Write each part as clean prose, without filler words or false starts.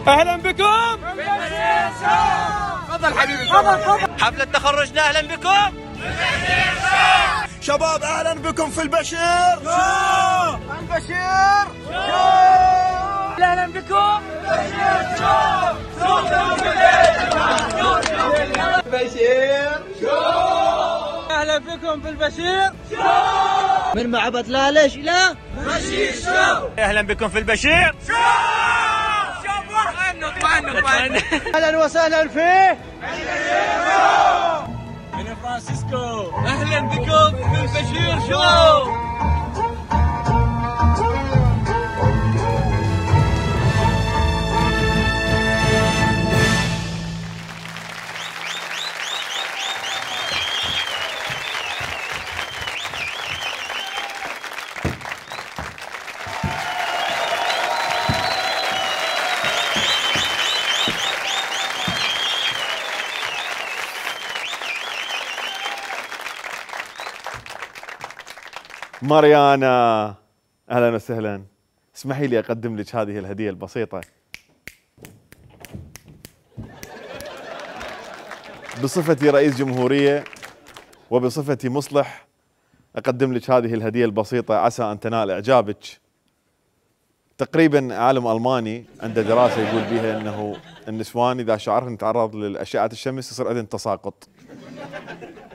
اهلا بكم بالبشير شو. تفضل حبيبي تفضل. حفلة تخرجنا اهلا بكم بالبشير شو. شباب اهلا بكم في البشير شو. البشير شو. اهلا بكم بالبشير شو. البشير شو. اهلا بكم بالبشير شو. من معبد لالش الى بشير شو. اهلا بكم في البشير شو. اطمئنوا. اهلا وسهلا فيه من فرانسيسكو. اهلا بكم بالبشير شو. ماريانا اهلا وسهلا. اسمحي لي اقدم لك هذه الهديه البسيطه بصفتي رئيس جمهوريه وبصفتي مصلح. اقدم لك هذه الهديه البسيطه عسى ان تنال اعجابك. تقريبا عالم الماني عنده دراسه يقول بها انه النسوان اذا شعرهن تعرض لاشعه الشمس يصير عندهن تساقط.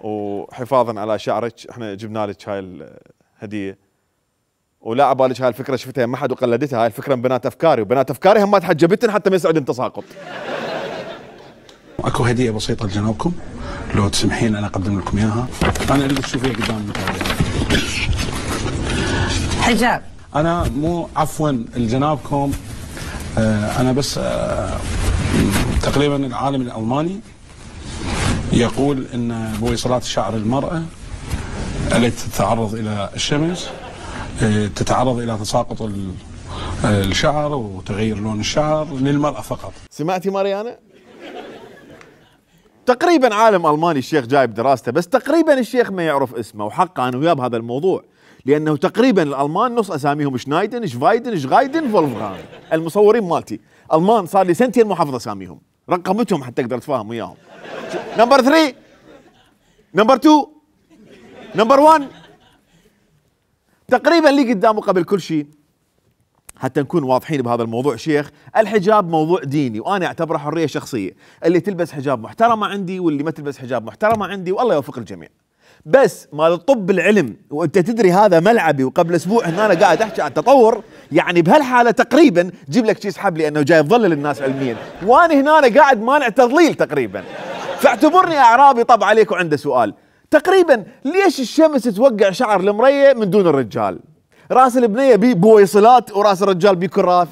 وحفاظا على شعرك احنا جبنا لك هاي هديه. ولا عبالك هاي الفكره شفتها ما حد وقلدتها. هاي الفكره من بنات افكاري وبنات افكاري هم تحجبتن حتى ما يصعدن تساقط. اكو هديه بسيطه لجنابكم لو تسمحين انا اقدم لكم اياها. انا اريد تشوفيها قدام حجاب. انا مو عفوا لجنابكم انا بس تقريبا العالم الالماني يقول ان بويصلات شعر المراه التي تتعرض الى الشمس تتعرض الى تساقط الشعر وتغير لون الشعر للمرأة فقط. سمعتي ماريانا؟ تقريبا عالم الماني الشيخ جايب دراسته بس تقريبا الشيخ ما يعرف اسمه وحقه انا وياه بهذا الموضوع لانه تقريبا الالمان نص اساميهم شنايدن شفايدن شغايدن فولفغان. المصورين مالتي المان صار لي سنتين مو حافظ اساميهم رقمتهم حتى اقدر اتفاهم وياهم. نمبر 3 نمبر 2 نمبر 1 تقريبا لي قدامه قبل كل شيء حتى نكون واضحين بهذا الموضوع. شيخ الحجاب موضوع ديني وانا اعتبره حريه شخصيه. اللي تلبس حجاب محترمه عندي واللي ما تلبس حجاب محترمه عندي والله يوفق الجميع. بس مال الطب العلم وانت تدري هذا ملعبي وقبل اسبوع هنا انا قاعد احكي عن التطور يعني بهالحاله تقريبا جيب لك شيء اسحب لي انه جاي يضلل الناس علميا وانا هنا قاعد مانع تضليل تقريبا. فاعتبرني اعرابي طب عليك وعنده سؤال. تقريبا ليش الشمس توقع شعر المريه من دون الرجال؟ راس البنيه بيه بويصلات وراس الرجال بيه كراث.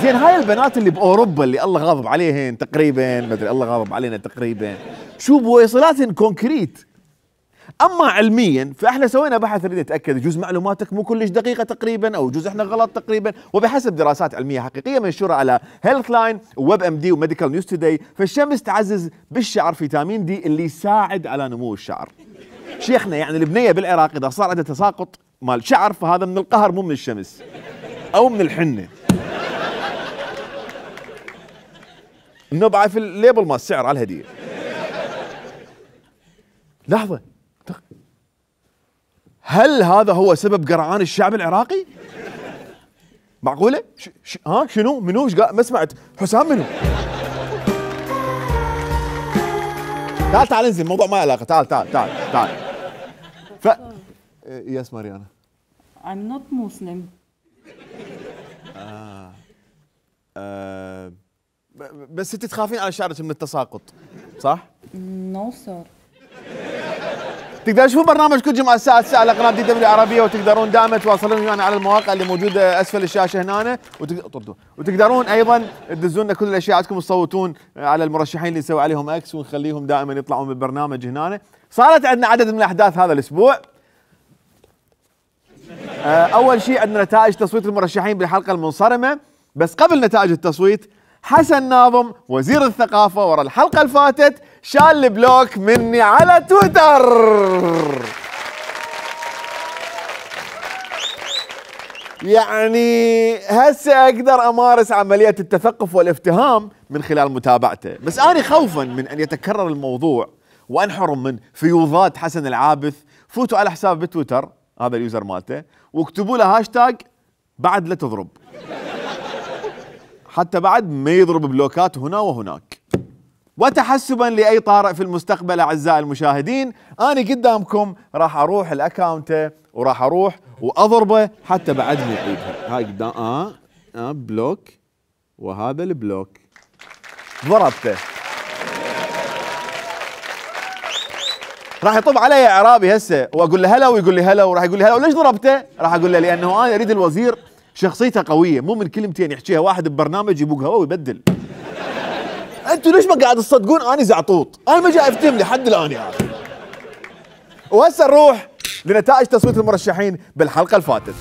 زين هاي البنات اللي باوروبا اللي الله غاضب عليهن تقريبا ما ادري الله غاضب علينا تقريبا شو بويصلاتهن كونكريت. اما علميا فاحنا سوينا بحث نريد نتاكد يجوز معلوماتك مو كلش دقيقه تقريبا او يجوز احنا غلط تقريبا وبحسب دراسات علميه حقيقيه منشوره على هيلث لاين وويب ام دي وميديكال نيوز توداي. فالشمس تعزز بالشعر فيتامين دي اللي يساعد على نمو الشعر. شيخنا يعني البنيه بالعراق اذا صار عندها تساقط مال شعر فهذا من القهر مو من الشمس او من الحنه. النبعه في الليبل مال السعر على الهديه. لحظه هل هذا هو سبب قرعان الشعب العراقي؟ معقوله؟ شنو؟ منو؟ ما سمعت حسام منو؟ تعال انزل الموضوع ما له علاقه. تعال يس ماريانا I'm not Muslim. بس انت تخافين على شعرك من التساقط صح؟ No sir. تقدرون تشوفون برنامج كل جمعه الساعه 9 على قناه دي دبليو عربيه وتقدرون دائما تواصلون ويانا على المواقع اللي موجوده اسفل الشاشه هنا وتقدرون ايضا تدزون لنا كل الاشياء عندكم تصوتون على المرشحين اللي نسوي عليهم اكس ونخليهم دائما يطلعون بالبرنامج هنا. صارت عندنا عدد من الاحداث هذا الاسبوع. اول شيء عندنا نتائج تصويت المرشحين بالحلقه المنصرمه. بس قبل نتائج التصويت حسن ناظم وزير الثقافة ورا الحلقة اللي فاتت شال البلوك مني على تويتر. يعني هسه اقدر امارس عملية التثقف والافتهام من خلال متابعته، بس انا خوفا من ان يتكرر الموضوع وانحرم من فيوضات حسن العابث، فوتوا على حساب بتويتر هذا اليوزر مالته واكتبوا له هاشتاج بعد لا تضرب، حتى بعد ما يضرب بلوكات هنا وهناك. وتحسبا لاي طارئ في المستقبل اعزائي المشاهدين، انا قدامكم راح اروح الاكاونته وراح اروح واضربه حتى بعد ما يعيدها. هاي قدام بلوك، وهذا البلوك ضربته. راح يطب علي اعرابي هسه واقول له هلا ويقول لي هلا، وراح يقول لي هلا وليش ضربته؟ راح اقول له لانه انا اريد الوزير شخصيته قويه، مو من كلمتين يحكيها واحد ببرنامج يبوق هوا ويبدل. انتوا ليش ما قاعد تصدقون اني زعطوط؟ انا ما جاي افتهم لحد الان يعني. وهسه نروح لنتائج تصويت المرشحين بالحلقه الفاتت.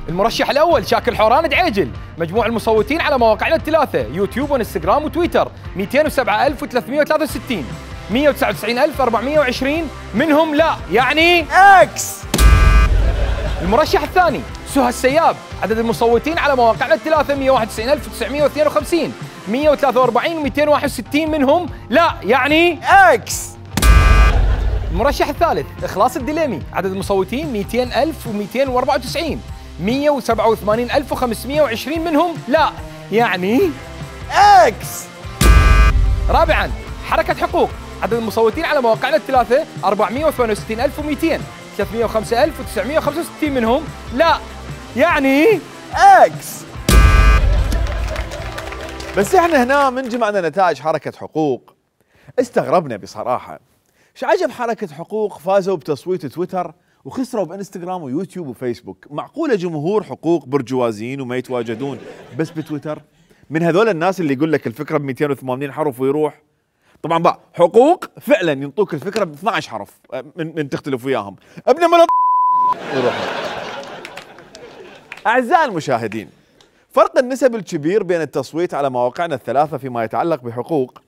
المرشح الاول شاكر حوران دعيجل، مجموع المصوتين على مواقعنا الثلاثه يوتيوب وانستغرام وتويتر 207,363، 199,420 منهم لا يعني اكس. المرشح الثاني سهى السياب، عدد المصوتين على مواقعنا الثلاثه 191,952، 143,261 منهم لا يعني اكس. المرشح الثالث إخلاص الدليمي، عدد المصوتين 200,294، 187,520 منهم لا يعني اكس. رابعا حركة حقوق، عدد المصوتين على مواقعنا الثلاثة 468,200، 305,965 منهم لا يعني اكس. بس احنا هنا من جمعنا نتائج حركة حقوق استغربنا بصراحة. ايش عجب حركة حقوق فازوا بتصويت تويتر وخسروا بانستغرام ويوتيوب وفيسبوك؟ معقولة جمهور حقوق برجوازيين وما يتواجدون بس بتويتر؟ من هذول الناس اللي يقول لك الفكرة ب 280 حرف ويروح. طبعا بقى حقوق فعلا ينطوك الفكرة ب 12 حرف من تختلف وياهم. ابن ملط يروح. اعزائي المشاهدين، فرق النسب الكبير بين التصويت على مواقعنا الثلاثة فيما يتعلق بحقوق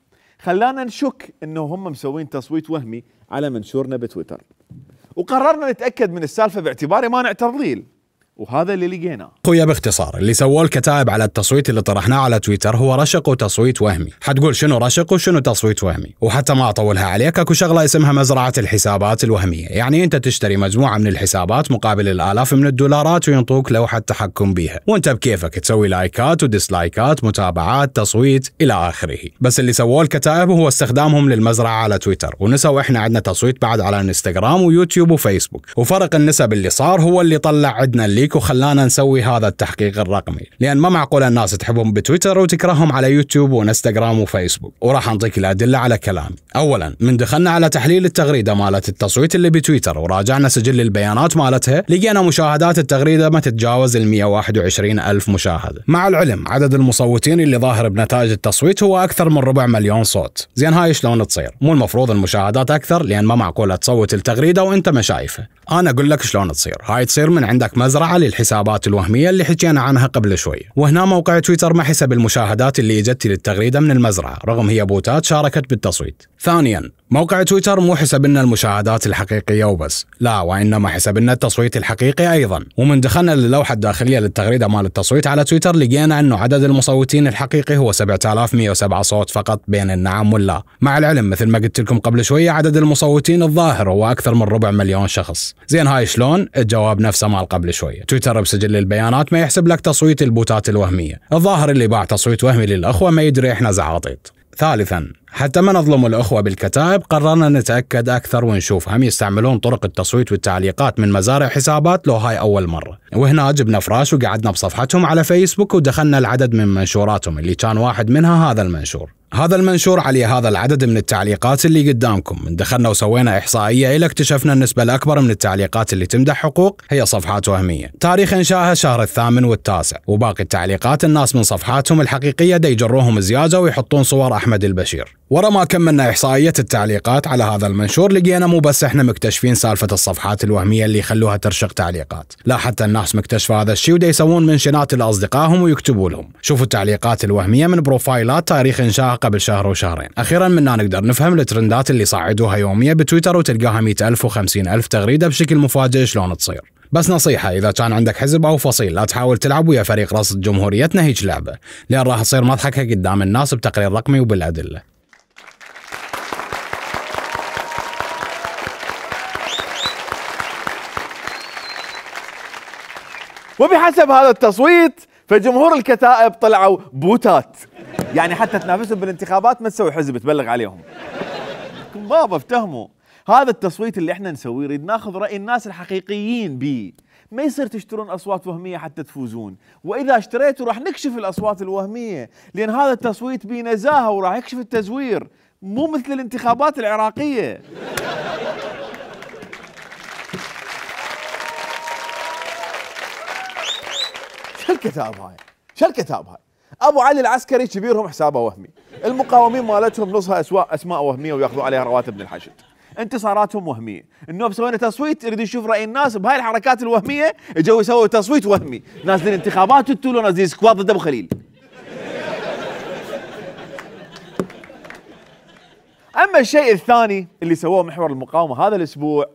خلانا نشك انه هم مسوين تصويت وهمي على منشورنا بتويتر، وقررنا نتاكد من السالفه باعتبار مانع تضليل، وهذا اللي لقيناه. خويا باختصار اللي سووه الكتائب على التصويت اللي طرحناه على تويتر هو رشق وتصويت وهمي. حتقول شنو رشق وشنو تصويت وهمي؟ وحتى ما اطولها عليك، اكو شغله اسمها مزرعه الحسابات الوهميه، يعني انت تشتري مجموعه من الحسابات مقابل الالاف من الدولارات وينطوك لوحه تحكم بيها، وانت بكيفك تسوي لايكات وديسلايكات، متابعات، تصويت الى اخره. بس اللي سووه الكتائب هو استخدامهم للمزرعه على تويتر، ونسوا احنا عندنا تصويت بعد على انستغرام ويوتيوب وفيسبوك، وفرق النسب اللي صار هو اللي طلع عندنا الليك وخلانا نسوي هذا التحقيق الرقمي، لان ما معقول الناس تحبهم بتويتر وتكرههم على يوتيوب وانستغرام وفيسبوك. وراح نعطيك الادله على كلامي. اولا، من دخلنا على تحليل التغريده مالت التصويت اللي بتويتر وراجعنا سجل البيانات مالتها، لقينا مشاهدات التغريده ما تتجاوز ال 121,000 مشاهده، مع العلم عدد المصوتين اللي ظاهر بنتائج التصويت هو اكثر من 250,000 صوت. زين هاي شلون تصير؟ مو المفروض المشاهدات اكثر؟ لان ما معقول تصوت التغريده وانت ما شايفه. انا اقول لك شلون تصير. هاي تصير من عندك مزرعه للحسابات الوهميه اللي حكينا عنها قبل شوي، وهنا موقع تويتر ما حسب المشاهدات اللي اجت للتغريده من المزرعه رغم هي بوتات شاركت بالتصويت. ثانيا، موقع تويتر مو حسب لنا المشاهدات الحقيقيه وبس، لا وانما حسب لنا التصويت الحقيقي ايضا. ومن دخلنا للوحه الداخليه للتغريده مال التصويت على تويتر لقينا انه عدد المصوتين الحقيقي هو 7,107 صوت فقط بين النعم واللا، مع العلم مثل ما قلت لكم قبل شويه عدد المصوتين الظاهر هو اكثر من 250,000 شخص. زين هاي شلون؟ الجواب نفسه مال قبل شويه، تويتر بسجل البيانات ما يحسب لك تصويت البوتات الوهميه، الظاهر اللي باع تصويت وهمي للاخوه ما يدري احنا زعاطيط. ثالثا، حتى ما نظلم الأخوة بالكتائب قررنا نتأكد أكثر ونشوف هم يستعملون طرق التصويت والتعليقات من مزارع حسابات لو هاي أول مرة. وهنا جبنا فراش وقعدنا بصفحتهم على فيسبوك ودخلنا العدد من منشوراتهم اللي كان واحد منها هذا المنشور. هذا المنشور عليه هذا العدد من التعليقات اللي قدامكم. من دخلنا وسوينا إحصائية إلى اكتشفنا النسبة الأكبر من التعليقات اللي تمدح حقوق هي صفحات وهمية، تاريخ إنشائها شهر 8 و9، وباقي التعليقات الناس من صفحاتهم الحقيقية دا يجروهم زيادة ويحطون صور أحمد البشير. ورا ما كملنا إحصائية التعليقات على هذا المنشور لقينا مو بس احنا مكتشفين سالفة الصفحات الوهمية اللي يخلوها ترشق تعليقات، لا حتى الناس مكتشفة هذا الشيء ودا يسوون منشنات لأصدقائهم ويكتبوا لهم شوفوا التعليقات الوهمية من بروفايلات تاريخ إنشائها قبل شهر وشهرين. أخيرا منا نقدر نفهم الترندات اللي صعدوها يوميا بتويتر وتلقاها 100,000 و50,000 تغريدة بشكل مفاجئ شلون تصير. بس نصيحة، إذا كان عندك حزب أو فصيل لا تحاول تلعب ويا فريق رصد جمهوريتنا هيج لعبة، لأن راح تصير مضحكة قدام الناس بتقرير رقمي وبالأدلة. وبحسب هذا التصويت فجمهور الكتائب طلعوا بوتات، يعني حتى تنافسهم بالانتخابات ما تسوي حزب تبلغ عليهم. بابا افتهموا، هذا التصويت اللي احنا نسويه نريد ناخذ راي الناس الحقيقيين بيه، ما يصير تشترون اصوات وهميه حتى تفوزون، واذا اشتريتوا راح نكشف الاصوات الوهميه، لان هذا التصويت بيه نزاهه وراح يكشف التزوير، مو مثل الانتخابات العراقيه. شو الكتاب هاي؟ شو الكتاب هاي؟ ابو علي العسكري كبيرهم حسابه وهمي، المقاومين مالتهم نصها اسماء وهميه وياخذوا عليها رواتب من الحشد، انتصاراتهم وهميه، النوب سوينا تصويت يريد يشوف راي الناس بهاي الحركات الوهميه، اجوا يسووا تصويت وهمي، نازلين انتخابات وتولوا نازلين سكواد ضد ابو خليل. اما الشيء الثاني اللي سووه محور المقاومه هذا الاسبوع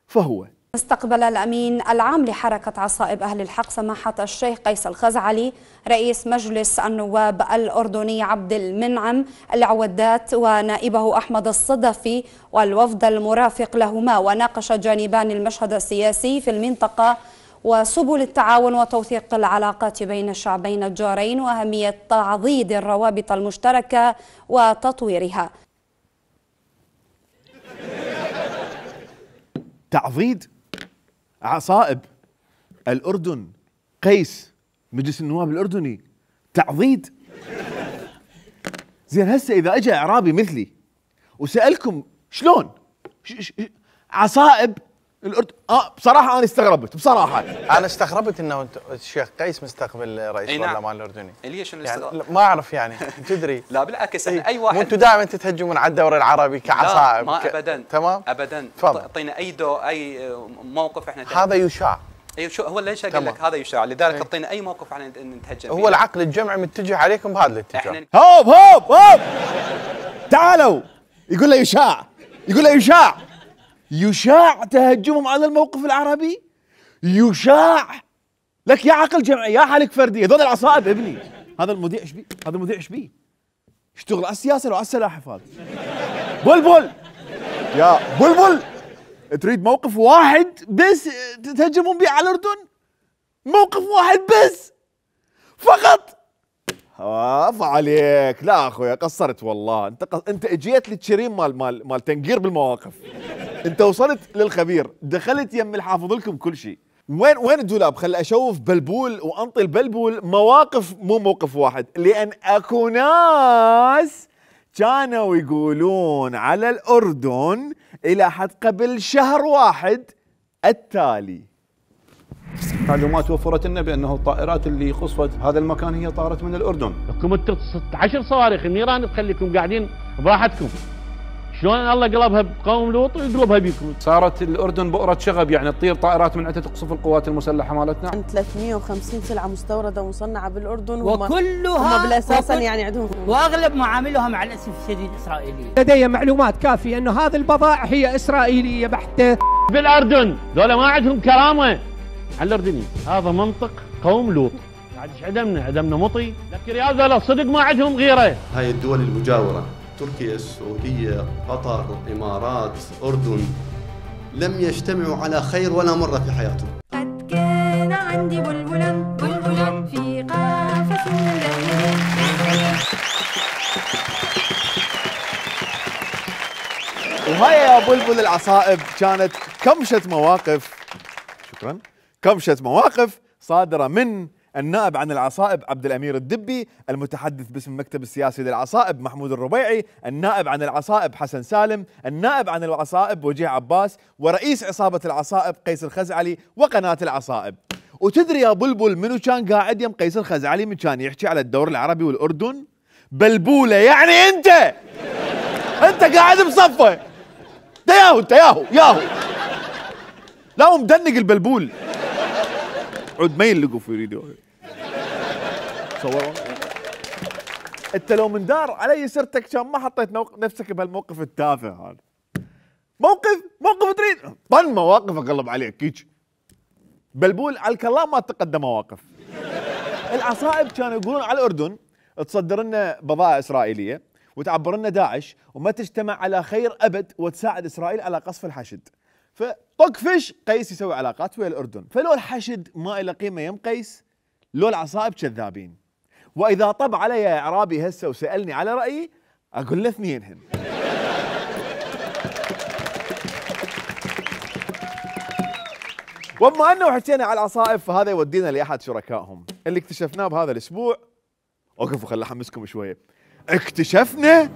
فهو استقبل الأمين العام لحركة عصائب أهل الحق سماحة الشيخ قيس الخزعلي رئيس مجلس النواب الأردني عبد المنعم العودات ونائبه أحمد الصدفي والوفد المرافق لهما، وناقش جانبان المشهد السياسي في المنطقة وسبل التعاون وتوثيق العلاقات بين الشعبين الجارين وأهمية تعضيد الروابط المشتركة وتطويرها. تعضيد عصائب الأردن، قيس مجلس النواب الأردني، تعضيد. زين هسه إذا أجا إعرابي مثلي وسألكم شلون عصائب الأردن، بصراحة أنا استغربت، بصراحة أنا استغربت إنه الشيخ قيس مستقبل رئيس البرلمان الأردني. ليش يعني ما أعرف يعني تدري. لا بالعكس أي واحد. وأنتم دائما تتهجمون على الدوري العربي كعصائب. ما أبدا. تمام. أبدا. اعطينا أي موقف إحنا هذا يشاع. ايوه شو هو ليش اقول لك هذا يشاع، لذلك اعطينا اي موقف احنا نتهجم هو العقل الجمعي متجه عليكم بهذا الاتجاه. هوب هوب هوب تعالوا، يقول له يشاع، يقول له يشاع، يشاع تهجمهم على الموقف العربي، يشاع لك يا عقل جمعي يا حالك فردي، هذول العصائب ابني. هذا المذيع ايش بيه؟ هذا المذيع ايش بيه؟ يشتغل على السياسه لو على السلاحف هذا. بلبل يا بلبل، تريد موقف واحد بس تهجمون بيه على الأردن؟ موقف واحد بس فقط؟ عفا عليك، لا اخويا قصرت والله، انت اجيت للتشريم مال تنقير بالمواقف، انت وصلت للخبير، دخلت يم الحافظ لكم كل شيء. وين الدولاب؟ خلي اشوف بلبول وانطي البلبول مواقف مو موقف واحد، لان اكو ناس كانوا يقولون على الأردن إلى حد قبل شهر واحد التالي. معلومات وفرت لنا بأنه الطائرات اللي قصفت هذا المكان هي طارت من الأردن. لكم 16 صواريخ، النيران تخليكم قاعدين براحتكم. شلون الله قلبها بقوم لوط ويقلبها بيكم؟ صارت الأردن بؤرة شغب، يعني تطير طائرات من عندها تقصف القوات المسلحة مالتنا. 350 سلعة مستوردة ومصنعة بالأردن، وكلها هم بالأساسا يعني عندهم، واغلب معاملها مع الاسف الشديد اسرائيليه. لدي معلومات كافيه انه هذه البضائع هي اسرائيليه بحته. بالاردن ذولا ما عندهم كرامه على الاردنيين، هذا منطق قوم لوط. بعد ايش عدمنا مطي، لكن يا ذولا صدق ما عندهم غيره. هاي الدول المجاوره تركيا، السعوديه، قطر، الامارات، اردن، لم يجتمعوا على خير ولا مره في حياتهم. قد كان عندي بلبلا في قافة وهاي يا بلبل العصائب كانت كمشة مواقف، شكرا، كمشة مواقف صادرة من النائب عن العصائب عبد الأمير الدبي، المتحدث باسم المكتب السياسي للعصائب محمود الربيعي، النائب عن العصائب حسن سالم، النائب عن العصائب وجيه عباس، ورئيس عصابة العصائب قيس الخزعلي، وقناة العصائب. وتدري يا بلبل منو كان قاعد يم قيس الخزعلي من كان يحكي على الدور العربي والأردن؟ بلبولة، يعني انت قاعد بصفه، ياهو لا هو مدنق البلبول، عود ما يلقوا في فيديو صوروا. انت لو من دار علي سيرتك كان ما حطيت نفسك بهالموقف التافه هذا. موقف تريد طن مواقف اقلب عليك هيك. بلبول على الكلام ما تتقدم مواقف. العصائب كانوا يقولون على الأردن تصدر لنا بضائع إسرائيلية وتعبر لنا داعش وما تجتمع على خير أبد وتساعد إسرائيل على قصف الحشد. فطقفش قيس يسوي علاقات ويا الأردن، فلو الحشد ما له قيمة يم قيس لو العصائب كذابين. وإذا طب علي إعرابي هسه وسألني على رأيي أقول له اثنينهن. وبما أنه حكينا على العصائب فهذا يودينا لأحد شركائهم اللي اكتشفناه بهذا الأسبوع. وقفوا خل أحمسكم شوية. اكتشفنا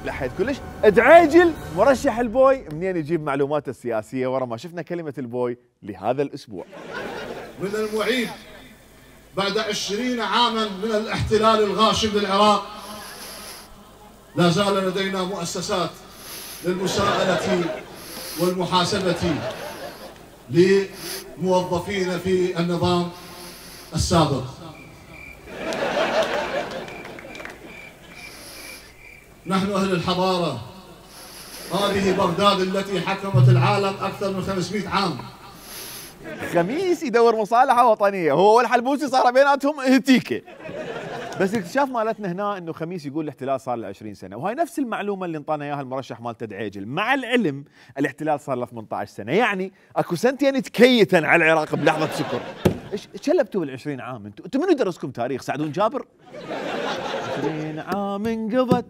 لحيت كلش دعيجل مرشح البوي منين يجيب معلوماته السياسية ورا ما شفنا كلمة البوي لهذا الأسبوع. من المعيب بعد 20 عاما من الاحتلال الغاشم للعراق لا زال لدينا مؤسسات للمساءلة والمحاسبة لموظفين في النظام السابق. نحن أهل الحضارة، هذه بغداد التي حكمت العالم أكثر من 500 عام. خميس يدور مصالحة وطنية، هو والحلبوسي صار بيناتهم هتيكة. بس الاكتشاف مالتنا هنا انه خميس يقول الاحتلال صار له 20 سنة، وهي نفس المعلومة اللي انطانا اياها المرشح مالته دعيجل، مع العلم الاحتلال صار له 18 سنة، يعني اكو سنتين تكيتا على العراق بلحظة سكر. ايش شلبتوا بال20 عام انتم منو درسكم تاريخ؟ سعدون جابر؟ 20 عام انقضت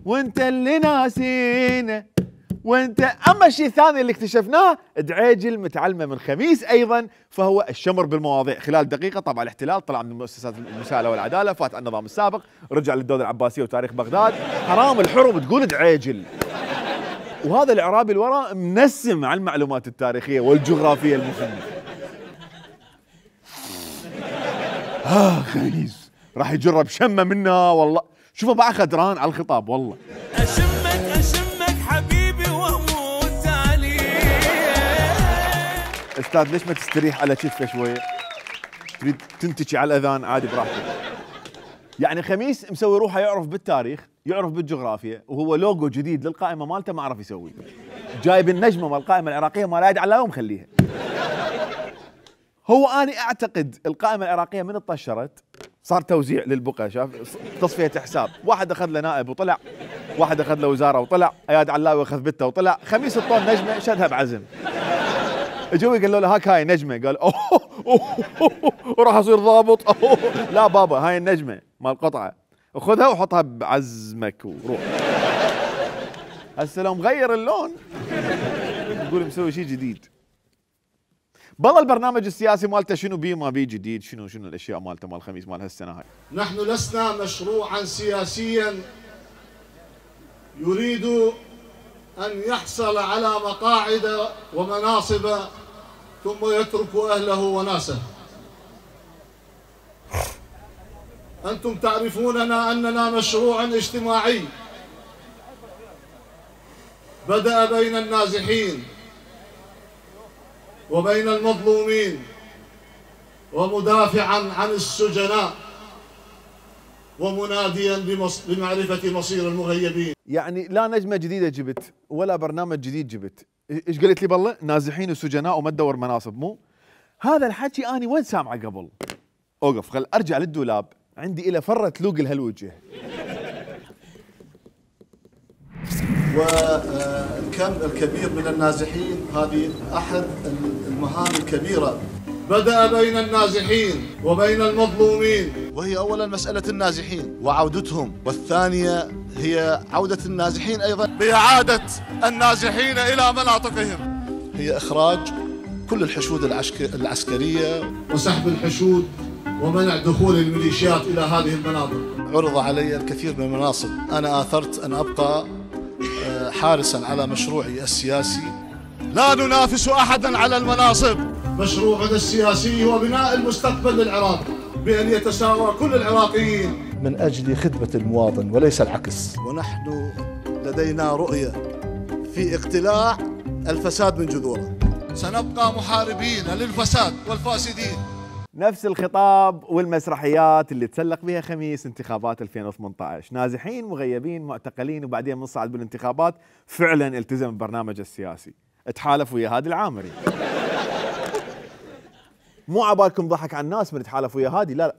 وانت اللي ناسينا وانت. اما الشيء الثاني اللي اكتشفناه دعيجل متعلمه من خميس ايضا، فهو الشمر بالمواضيع. خلال دقيقه طبعا الاحتلال طلع من مؤسسات المساءله والعداله، فات على النظام السابق، رجع للدوله العباسيه وتاريخ بغداد. حرام الحرم تقول دعيجل. وهذا الاعرابي الوراء منسم على المعلومات التاريخيه والجغرافيه المهمه. خميس راح يجرب شمه منا والله. شوفوا بقى خدران على الخطاب والله. اشمك حبيبي واموت عليك. استاذ ليش ما تستريح على كتفه شويه؟ تريد تنتكي على الاذان عادي براحتك. يعني خميس مسوي روحه يعرف بالتاريخ، يعرف بالجغرافيا، وهو لوجو جديد للقائمه مالته ما عرف يسويه. جايب النجمه مال القائمه العراقيه ما لا يدعي ومخليها. هو اني اعتقد القائمه العراقيه من طشرت صار توزيع للبقى، شاف تصفيه حساب، واحد اخذ له نائب وطلع، واحد اخذ له وزاره وطلع، اياد علاوي اخذ بته وطلع، خميس الطون نجمه شدها بعزم. اجوا قالوا له هاك هاي نجمه، قال اوه وراح اصير ضابط. لا بابا هاي النجمه مال قطعه، خذها وحطها بعزمك وروح. هسه لو مغير اللون يقول مسوي شيء جديد. بالله البرنامج السياسي مالته شنو بيه ما بيه جديد، شنو الاشياء مالته مال خميس مال هالسنه هاي. نحن لسنا مشروعا سياسيا يريد ان يحصل على مقاعد ومناصب ثم يترك اهله وناسه. انتم تعرفوننا اننا مشروع اجتماعي بدأ بين النازحين وبين المظلومين ومدافعا عن السجناء ومناديا بمعرفة مصير المغيبين. يعني لا نجمة جديدة جبت ولا برنامج جديد جبت. ايش قلت لي بالله؟ نازحين وسجناء وما تدور مناصب، مو هذا الحكي اني وين سامعه قبل؟ اوقف خل ارجع للدولاب، عندي الى فرة لوق لهالوجه. والكم الكبير من النازحين هذه أحد المهام الكبيرة. بدأ بين النازحين وبين المظلومين، وهي أولا مسألة النازحين وعودتهم، والثانية هي عودة النازحين أيضا بإعادة النازحين إلى مناطقهم، هي إخراج كل الحشود العسكرية وسحب الحشود ومنع دخول الميليشيات إلى هذه المناطق. عرض علي الكثير من المناصب، أنا آثرت أن أبقى حارسا على مشروعي السياسي. لا ننافس أحدا على المناصب. مشروعنا السياسي هو بناء المستقبل للعراق بأن يتساوى كل العراقيين من أجل خدمة المواطن وليس العكس. ونحن لدينا رؤية في اقتلاع الفساد من جذوره. سنبقى محاربين للفساد والفاسدين. نفس الخطاب والمسرحيات اللي تسلق بها خميس انتخابات 2018. نازحين، مغيبين، معتقلين، وبعدين منصعد بالانتخابات. فعلا التزم البرنامج السياسي، تحالف ويا هادي العامري. مو عبالكم ضحك على الناس من تحالف ويا هادي، لا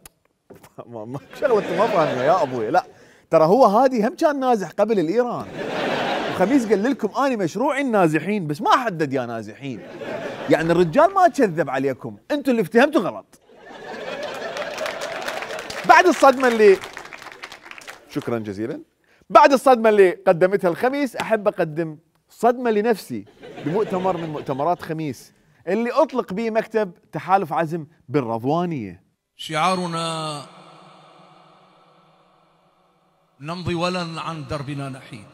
شغلة ما فاهمة يا ابوي. لا ترى هو هادي هم كان نازح قبل الايران، وخميس قال لكم اني مشروعي النازحين، بس ما حدد يا نازحين. يعني الرجال ما كذب عليكم، انتم اللي افتهمتوا غلط. بعد الصدمة اللي شكرا جزيلا، بعد الصدمة اللي قدمتها الخميس، احب اقدم صدمة لنفسي بمؤتمر من مؤتمرات خميس اللي اطلق به مكتب تحالف عزم بالرضوانية. شعارنا نمضي ولا عن دربنا نحيد،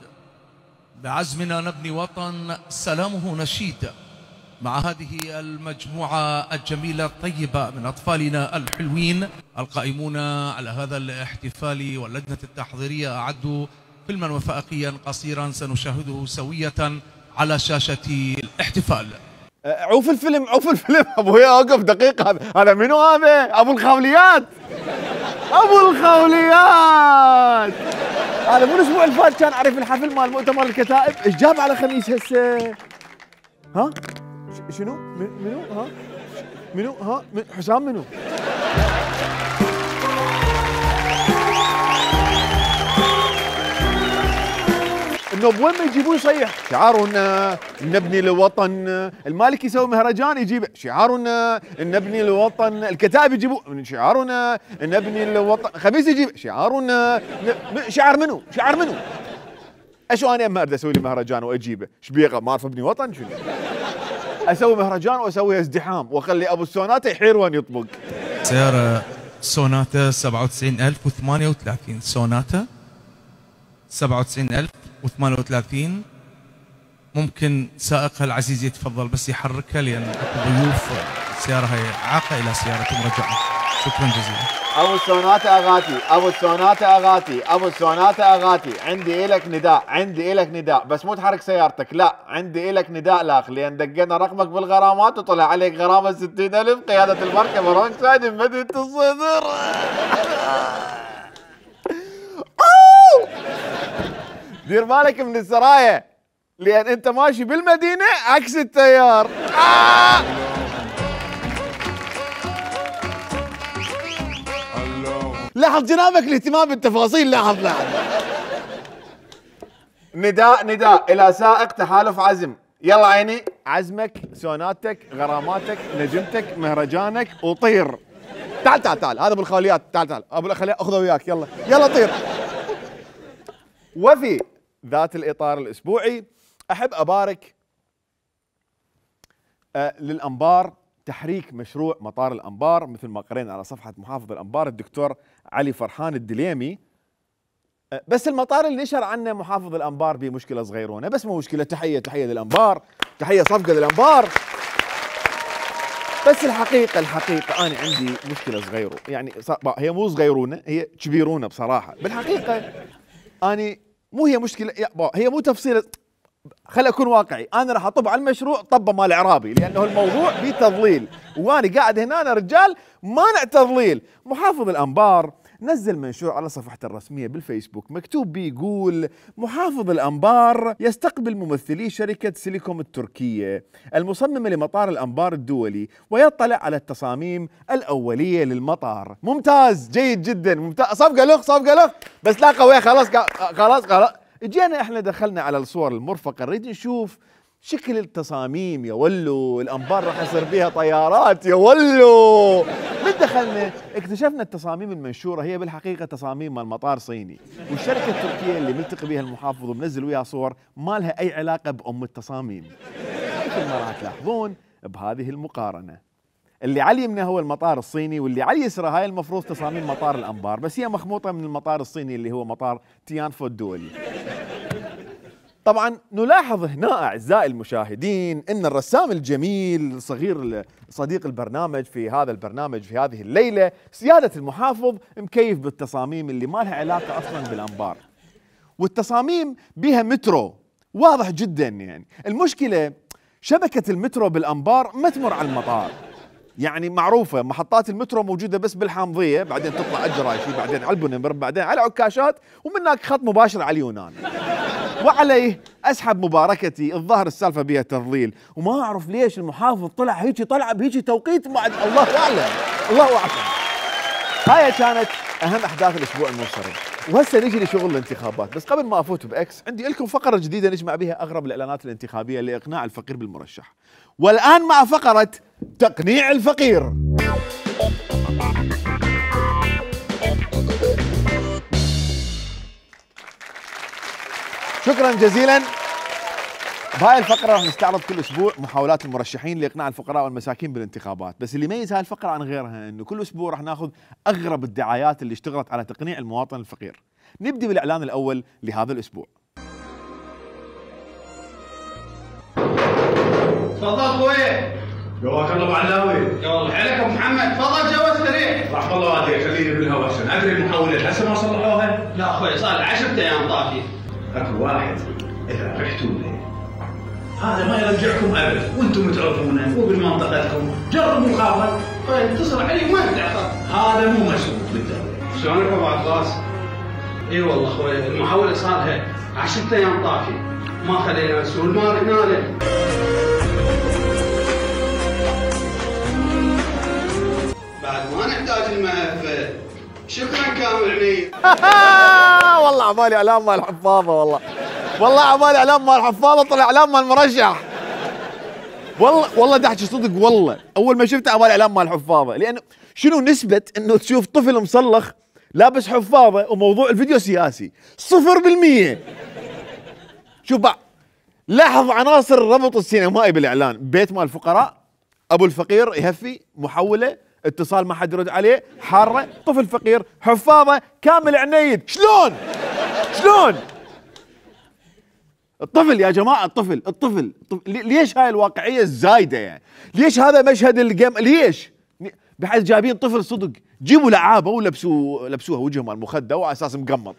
بعزمنا نبني وطن سلامه نشيد. مع هذه المجموعة الجميلة الطيبة من أطفالنا الحلوين القائمون على هذا الاحتفال، واللجنة التحضيرية أعدوا فيلما وثائقيا قصيرا سنشاهده سوية على شاشة الاحتفال. عوف الفيلم عوف الفيلم. ابويا اوقف دقيقة، هذا منو هذا؟ ابو الخوليات، ابو الخوليات. هذا مو الاسبوع اللي فات كان عارف الحفل مال مؤتمر الكتائب، ايش جاب على خميس هسه؟ ها؟ شنو؟ منو؟ ها؟ منو؟ ها؟ حسام منو؟ النوب وين ما يجيبوه يصيح شعارنا نبني الوطن. المالك يسوي مهرجان يجيب شعارنا نبني الوطن. الكتائب يجيبوه شعارنا نبني الوطن. خميس يجيب شعارنا شعار منو؟ شعار منو؟ اشو انا اما اريد اسوي لي مهرجان واجيبه؟ شبيقه ما اعرف ابني وطن شنو؟ اسوي مهرجان واسوي ازدحام واخلي ابو السوناتا يحير وين يطبق. سيارة سوناتا 97038، سوناتا 97038. ممكن سائقها العزيز يتفضل بس يحركها لان اكو ضيوف. السيارة هي عاقة الى سيارة مرجعة. شكرا جزيلا. ابو السوناتا اغاتي، ابو السوناتا اغاتي، ابو السوناتا اغاتي، عندي الك نداء، عندي الك نداء، بس مو تحرك سيارتك، لا عندي الك نداء لاخ، لان دقينا رقمك بالغرامات وطلع عليك غرامه 60,000. قياده المركبه رونق سايد مدينه الصدر. دير بالك من السرايا، لان انت ماشي بالمدينه عكس التيار. لاحظ جنابك الاهتمام بالتفاصيل، لاحظ. نداء الى سائق تحالف عزم، يلا عيني، عزمك، سوناتك، غراماتك، نجمتك، مهرجانك، وطير. تعال هذا ابو الخوليات، تعال ابو الخوليات اخذه وياك، يلا طير. وفي ذات الاطار الاسبوعي احب ابارك للانبار تحريك مشروع مطار الانبار، مثل ما قرينا على صفحه محافظ الانبار الدكتور علي فرحان الدليمي. بس المطار اللي نشر عنه محافظ الانبار بمشكله صغيرونه، بس مو مشكله. تحيه للانبار، تحيه صفقه للانبار. بس الحقيقه انا عندي مشكله صغيره، يعني هي مو صغيرونه، هي كبيرونه بصراحه. بالحقيقه اني مو هي مشكله، هي مو تفصيله. خلي اكون واقعي، انا راح اطب على المشروع طبه مال اعرابي، لانه الموضوع فيه تضليل، وانا قاعد هنا أنا رجال مانع تضليل. محافظ الانبار نزل منشور على صفحته الرسميه بالفيسبوك مكتوب بيه يقول: محافظ الانبار يستقبل ممثلي شركه سيليكوم التركيه المصممه لمطار الانبار الدولي ويطلع على التصاميم الاوليه للمطار. ممتاز، جيد جدا، ممتاز. صفقه لخ بس لا قويه. خلاص اجينا احنا دخلنا على الصور المرفقه، نريد نشوف شكل التصاميم. يا ولو الانبار راح يصير بيها طيارات، يا ولو. من دخلنا اكتشفنا التصاميم المنشوره هي بالحقيقه تصاميم مال مطار صيني، والشركه التركيه اللي ملتقي بها المحافظ ومنزل وياها صور ما لها اي علاقه بام التصاميم. مثل ما راح تلاحظون بهذه المقارنه، اللي على اليمنى هو المطار الصيني، واللي على اليسرى هاي المفروض تصاميم مطار الانبار، بس هي مخموطه من المطار الصيني اللي هو مطار تيانفو الدولي. طبعا نلاحظ هنا اعزائي المشاهدين ان الرسام الجميل الصغير صديق البرنامج في هذا البرنامج في هذه الليله سياده المحافظ مكيف بالتصاميم اللي ما لها علاقه اصلا بالانبار، والتصاميم بها مترو واضح جدا. يعني المشكله شبكه المترو بالانبار ما تمر على المطار، يعني معروفه محطات المترو موجوده بس بالحامضيه، بعدين تطلع على الجرايشي، بعدين على البنمبر، بعدين على عكاشات، ومن هناك خط مباشر على اليونان. وعليه اسحب مباركتي. الظاهر السالفه بها تضليل، وما اعرف ليش المحافظ طلع هيك، طلع بهيك توقيت بعد، الله اعلم الله اعلم. هاي كانت اهم احداث الاسبوع المنصرم. وهسه نجي لشغل الانتخابات، بس قبل ما افوت باكس عندي لكم فقره جديده نجمع بها اغرب الاعلانات الانتخابيه لاقناع الفقير بالمرشح. والان مع فقره تقنيع الفقير. شكرا جزيلا. بهاي الفقرة راح نستعرض كل اسبوع محاولات المرشحين لاقناع الفقراء والمساكين بالانتخابات، بس اللي يميز هاي الفقرة عن غيرها انه كل اسبوع راح ناخذ اغرب الدعايات اللي اشتغلت على تقنيع المواطن الفقير. نبدي بالاعلان الاول لهذا الاسبوع. تفضل اخوي. جواك الله ابو علاوي. يا والله حيلك ابو محمد، تفضل جوا سريع. رحم الله والديك، خليني بالهواء عشان ادري المحاولات هسه ما صلحوها. لا اخوي صار 10 ايام طافي. اكو واحد اذا رحتوا له هذا ما يرجعكم ابد، وانتم تعرفونه وبمنطقتكم، جربوا الخابر، اتصل عليه وما تتاخر، هذا مو مسؤول بالدوله. شلونك ابو عباس؟ اي والله اخوي المحاوله صار لها 10 ايام طافي، ما خلينا مسؤول، ما رحنا له. بعد ما نحتاج الملف. شكرا كامل عنيد. والله عبالي اعلام مال الحفاظه، والله عبالي اعلام مال الحفاظه، طلع اعلام مال المرشح. والله ده احكي صدق، والله اول ما شفته عبالي اعلام مال الحفاظه، لانه شنو نسبه انه تشوف طفل مصلخ لابس حفاظه وموضوع الفيديو سياسي؟ 0%. شوف بقى، لاحظ عناصر الربط السينمائي بالاعلان: بيت مال الفقراء، ابو الفقير يهفي، محوله، اتصال ما حد يرد عليه، حاره، طفل فقير، حفاظه، كامل عنيد. شلون الطفل يا جماعه؟ الطفل ليش هاي الواقعيه الزايده يعني؟ ليش هذا مشهد الجيم؟ ليش بحيث جايبين طفل صدق؟ جيبوا لعابه ولبسوها وجههم على المخده وعلى اساس مقمط.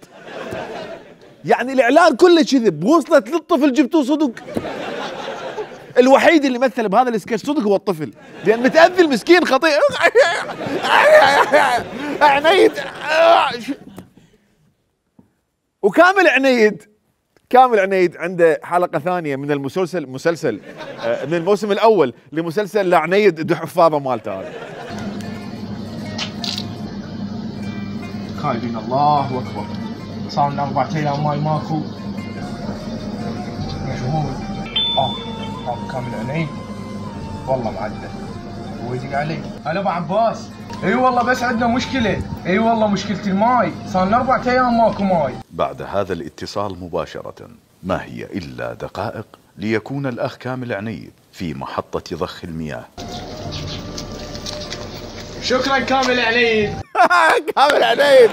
يعني الاعلان كله كذب، وصلت للطفل جبتوه صدق. الوحيد اللي مثل بهذا السكتش صدق هو الطفل، لان متاذي المسكين خطير. عنيد وكامل عنيد عنده حلقه ثانيه من المسلسل من الموسم الاول لمسلسل لعنيد دو حفاظه مالته هذا. خايفين الله اكبر، صار لنا 4 ايام ماي ماكو. مجهول. كامل عنيد والله معدل، هو يدق علي. هلا ابو عباس. اي والله بس عندنا مشكله، اي والله مشكله الماي، صار لنا 4 ايام ماكو ماي. بعد هذا الاتصال مباشره ما هي الا دقائق ليكون الاخ كامل عنيد في محطه ضخ المياه. شكرا كامل عنيد. كامل عنيد.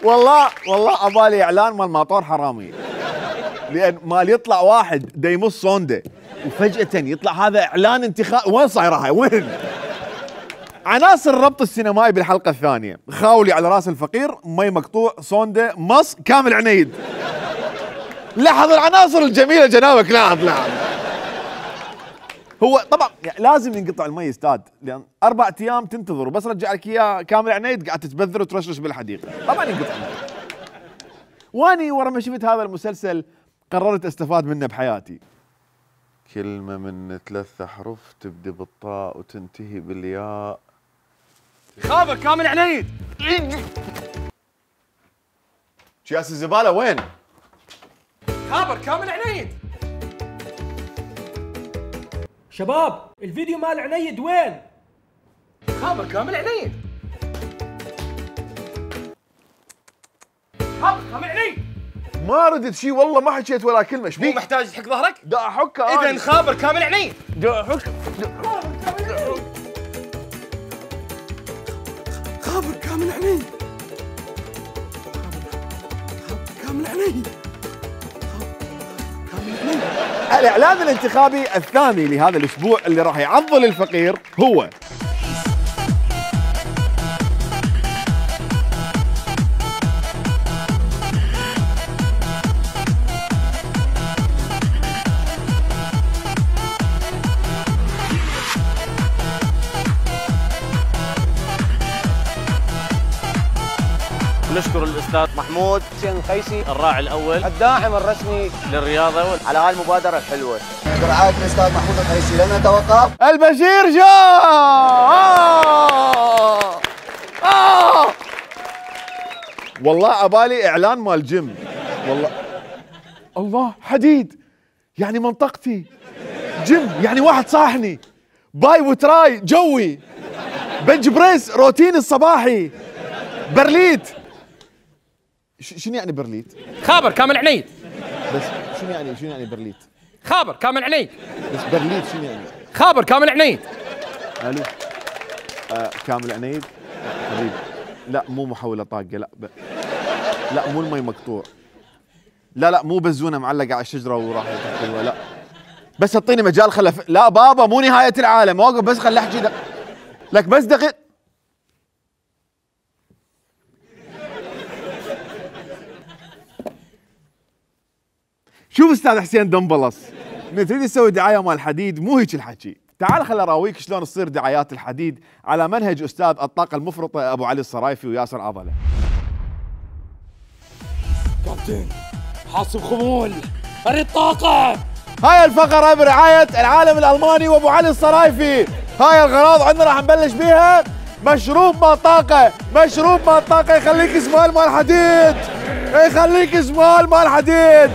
والله ابالي اعلان مال ماطور حرامي، لان مال يطلع واحد دا يمص صونده وفجأة يطلع هذا اعلان انتخاب. وين صايره هاي؟ وين؟ عناصر الربط السينمائي بالحلقه الثانيه: خاولي على راس الفقير، مي مقطوع، صونده، مص، كامل عنيد. لاحظ العناصر الجميله جنابك، لاحظ. هو طبعا لازم ينقطع المي استاذ، لان 4 ايام تنتظر وبس رجع لك اياه كامل عنيد قاعد تتبذر وترشرش بالحديقه، طبعا ينقطع المي. واني ورا ما شفت هذا المسلسل قررت استفاد منه بحياتي. كلمة من 3 أحرف تبدي بالطاء وتنتهي بالياء. خابر كامل عنيد. شياس الزبالة وين؟ خابر كامل عنيد. شباب الفيديو مال عنيد وين؟ خابر كامل عنيد. خابر كامل عنيد. ما ردت شيء والله، ما حكيت ولا كلمه. ايش مو محتاج تحك ظهرك؟ دا احكه. اذا خابر كامل عنيد. دا احك. خابر كامل عنيد. كامل عنيد. الاعلان الانتخابي الثاني لهذا الاسبوع اللي راح يعضل الفقير هو الاستاذ محمود حسين القيسي الراعي الاول الداعم الرسمي للرياضه على هاي المبادره الحلوه برعايه الاستاذ محمود القيسي. لن نتوقف. البشير جاء. والله عبالي اعلان مال جيم. والله الله حديد يعني منطقتي، جيم يعني واحد صاحني، باي وتراي جوي، بنج بريس روتين الصباحي، برليت. شنو يعني برليت؟ خابر كامل عنيد. بس شنو يعني برليت؟ خابر كامل عنيد. بس برليت شنو يعني؟ خابر كامل عنيد. الو كامل عنيد حبيبي. لا مو محولة طاقة، لا مو المي مقطوع، لا مو بزونة معلقة على الشجرة وراح لا بس اعطيني مجال لا بابا مو نهاية العالم، اوقف بس خل احكي لك بس دقيقة. شوف استاذ حسين دنبلص، من تريد تسوي دعاية مال حديد مو هيك الحكي. تعال خل اراويك شلون تصير دعايات الحديد على منهج استاذ الطاقة المفرطة ابو علي الصرايفي وياسر عضلة. كابتن حاسب خمول، اريد طاقة. هاي الفقرة برعاية العالم الألماني وأبو علي الصرايفي. هاي الأغراض عندنا راح نبلش بيها. مشروب مال طاقة، مشروب مال طاقة يخليك سمال مال حديد، يخليك سمال مال حديد.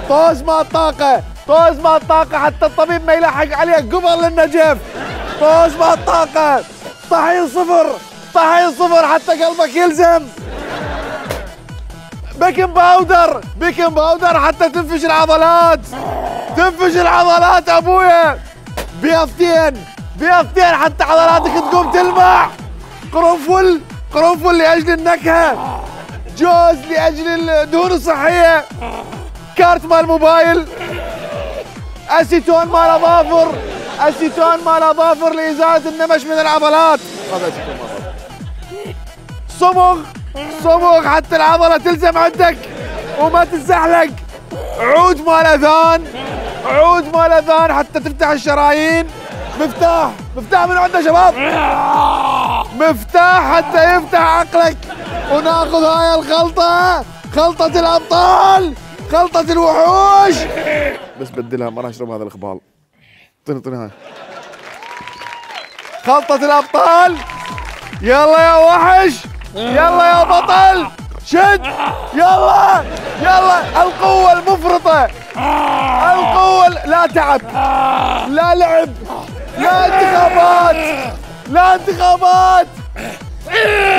طوز مال طاقة، طوز مال طاقة حتى الطبيب ما يلحق عليك قبل النجف. طوز مال طاقة، طحين صفر، طحين صفر حتى قلبك يلزم. بيكنج باودر، بيكنج باودر حتى تنفش العضلات، تنفش العضلات ابويا. بيضتين، بيضتين حتى عضلاتك تقوم تلمع. قرنفل، قرنفل لاجل النكهه، جوز لاجل الدهون الصحيه، كارت مال موبايل، اسيتون مال اظافر، اسيتون مال اظافر لازاله النمش من العضلات. هذا اسيتون مال اظافر. صمغ، صمغ حتى العضله تلزم عندك وما تتزحلق. عود مال اذان، عود مال اذان حتى تفتح الشرايين. مفتاح، مفتاح من عنده شباب، مفتاح حتى يفتح عقلك. وناخذ هاي الخلطه، خلطه الابطال، خلطه الوحوش. بس بدلها ما راح اشرب هذا الخبال. طني هاي خلطه الابطال. يلا يا وحش، يلا يا بطل، شد، يلا يلا. القوة المفرطة، القوة لا تعب، لا لعب، لا انتخابات، لا انتخابات،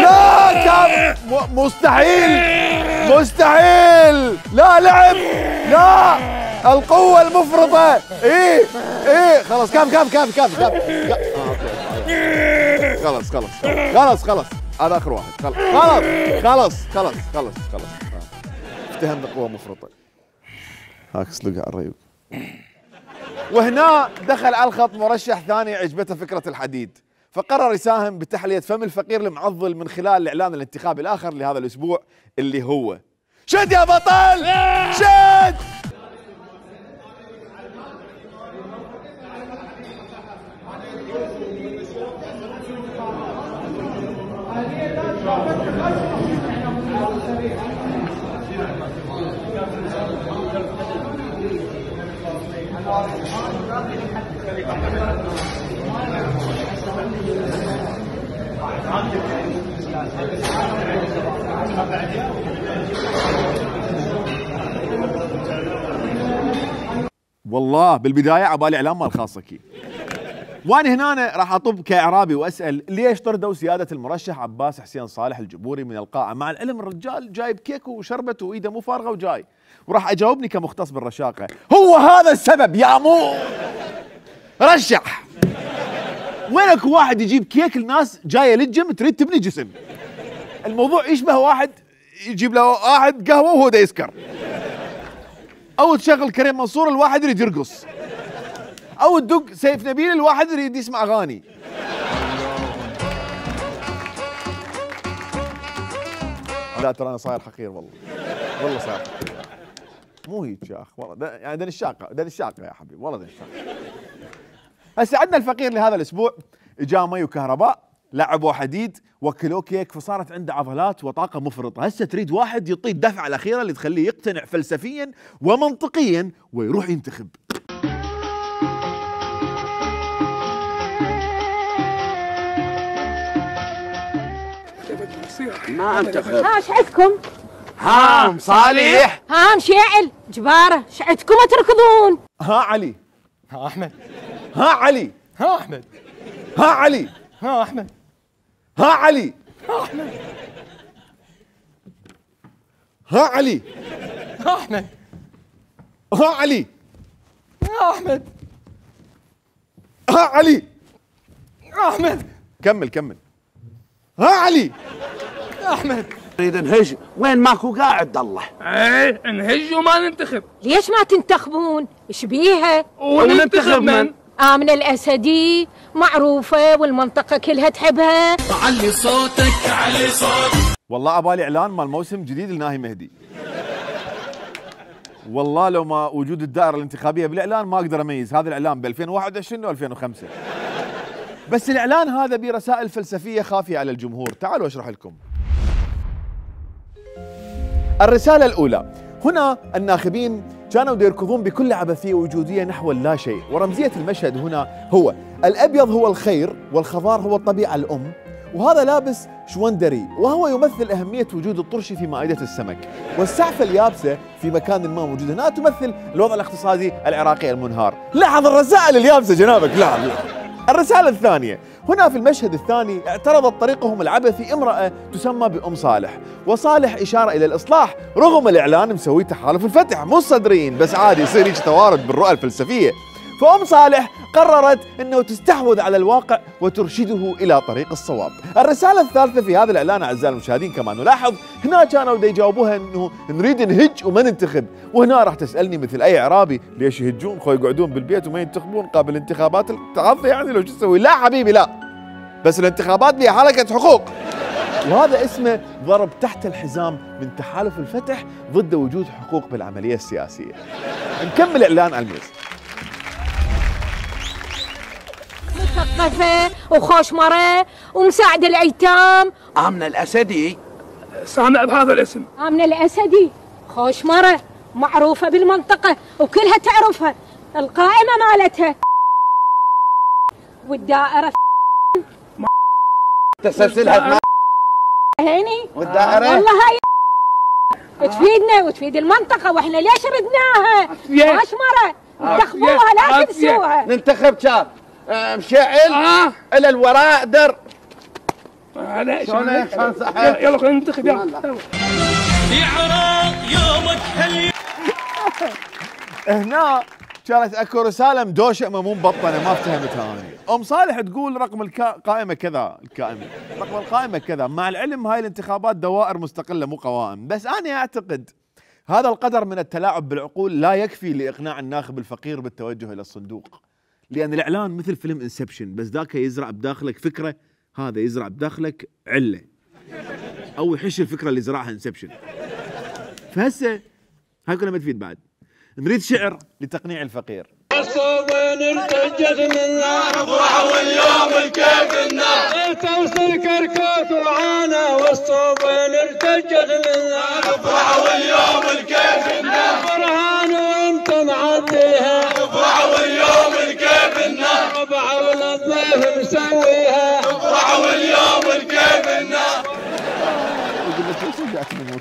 لا كان مستحيل، مستحيل، لا لعب، لا. القوة المفرطة. ايه خلاص كاف خلاص خلاص هذا اخر واحد. خلاص افتهمنا قوة مفرطة. هاك اسلقها على الريوق. وهنا دخل على الخط مرشح ثاني عجبته فكرة الحديد، فقرر يساهم بتحلية فم الفقير المعضل من خلال الإعلان الانتخابي الآخر لهذا الأسبوع اللي هو شد يا بطل، شد. والله بالبدايه عبالي اعلان مال خاصكي، وانا هنا راح اطب كاعرابي واسال ليش طردوا سياده المرشح عباس حسين صالح الجبوري من القاعه، مع العلم الرجال جايب كيك وشربت وايده مو فارغه وجاي، وراح اجاوبني كمختص بالرشاقه. هو هذا السبب يا مو رشح. وينك واحد يجيب كيك الناس جايه للجيم تريد تبني جسم. الموضوع يشبه واحد يجيب له واحد قهوه وهو دا يسكر، او تشغل كريم منصور الواحد يريد يرقص، او تدق سيف نبيل الواحد يريد يسمع اغاني. لا ترى انا صاير حقير والله، والله صاير حقير. مو هيك يا اخ والله، يعني دني الشاقه يا حبيبي، والله دني الشاقه. هسه عندنا الفقير لهذا الاسبوع اجاه مي وكهرباء، لعبوا حديد وكلوه كيك فصارت عنده عضلات وطاقه مفرطه، هسه تريد واحد يعطيه الدفعه الاخيره اللي تخليه يقتنع فلسفيا ومنطقيا ويروح ينتخب. ما انتخب. ها شعتكم؟ ها صالح. ها مشيعل جباره شعتكم تركضون. ها علي. ها احمد. ها علي. ها احمد. ها علي. ها احمد. ها علي. ها احمد. ها علي. ها احمد. ها علي. ها احمد. ها علي. ها احمد. كمل. ها علي. احمد. نريد نهج، وين ماكو قاعد الله؟ ايه نهج وما ننتخب. ليش ما تنتخبون؟ ايش بيها؟ وننتخب من؟ آمنة الأسدي معروفة والمنطقة كلها تحبها. علي صوتك علي صوتك. والله عبالي اعلان مال موسم جديد لناهي مهدي. والله لو ما وجود الدائره الانتخابيه بالاعلان ما اقدر اميز هذا الاعلان ب 2021 و2005. بس الاعلان هذا برسائل فلسفيه خافيه على الجمهور، تعالوا اشرح لكم. الرساله الاولى، هنا الناخبين كانوا يركضون بكل عبثيه وجوديه نحو اللا شيء، ورمزيه المشهد هنا هو الابيض هو الخير والخضار هو الطبيعه الام، وهذا لابس شوندري وهو يمثل أهمية وجود الطرش في مائدة السمك، والسعفة اليابسة في مكان ما موجود هنا تمثل الوضع الاقتصادي العراقي المنهار. لاحظ الرسائل اليابسة جنابك. لا. الرسالة الثانية، هنا في المشهد الثاني اعترضت طريقهم العبثي امرأة تسمى بأم صالح، وصالح إشارة إلى الإصلاح رغم الإعلان مسوي تحالف الفتح، مو صدرين بس عادي يصير هيك توارد بالرؤى الفلسفية. فأم صالح قررت أنه تستحوذ على الواقع وترشده إلى طريق الصواب. الرسالة الثالثة في هذا الإعلان أعزائي المشاهدين كما نلاحظ، هنا كانوا يجاوبوها أنه نريد نهج وما ننتخب، وهنا راح تسألني مثل أي إعرابي ليش يهجون خو يقعدون بالبيت وما ينتخبون قبل انتخابات التعاطي، يعني لو شو تسوي؟ لا حبيبي لا، بس الانتخابات بها حلقة حقوق، وهذا اسمه ضرب تحت الحزام من تحالف الفتح ضد وجود حقوق بالعملية السياسية. نكمل إعلان على الميز. مثقفة وخوشمرة ومساعدة الأيتام. آمنة الأسدي. سامع بهذا الاسم. آمنة الأسدي خوشمرة معروفة بالمنطقة وكلها تعرفها، القائمة مالتها والدائرة تسلسلها هيني والدائرة والله هاي تفيدنا وتفيد المنطقة، واحنا ليش ردناها؟ خوشمرة انتخبوها لا تنسوها. ننتخب كان مشعل الى الوراء در. شلون يلا خلينا ننتخب يلا. يا عراق يومك حلو. هنا كانت اكو رساله مدوشه مو مبطنه ما افتهمتها انا. ام صالح تقول رقم القائمه كذا، رقم القائمه كذا، مع العلم هاي الانتخابات دوائر مستقله مو قوائم، بس انا اعتقد هذا القدر من التلاعب بالعقول لا يكفي لاقناع الناخب الفقير بالتوجه الى الصندوق، لان الاعلان مثل فيلم انسبشن، بس ذاك يزرع بداخلك فكره، هذا يزرع بداخلك عله او يحش الفكره اللي زرعها انسبشن. فهسه هاي كلها ما تفيد بعد. نريد شعر لتقنيع الفقير. الصوبين ارتجت منا افرح واليوم الكيف النار توصل كركوك وعانا والصوبين ارتجت منا افرح واليوم الكيف النار فرحان وانت معديها افرح واليوم الكيف النار ربع والضيف مسويها افرح واليوم الكيف النار. يقول لك ليش رجعت من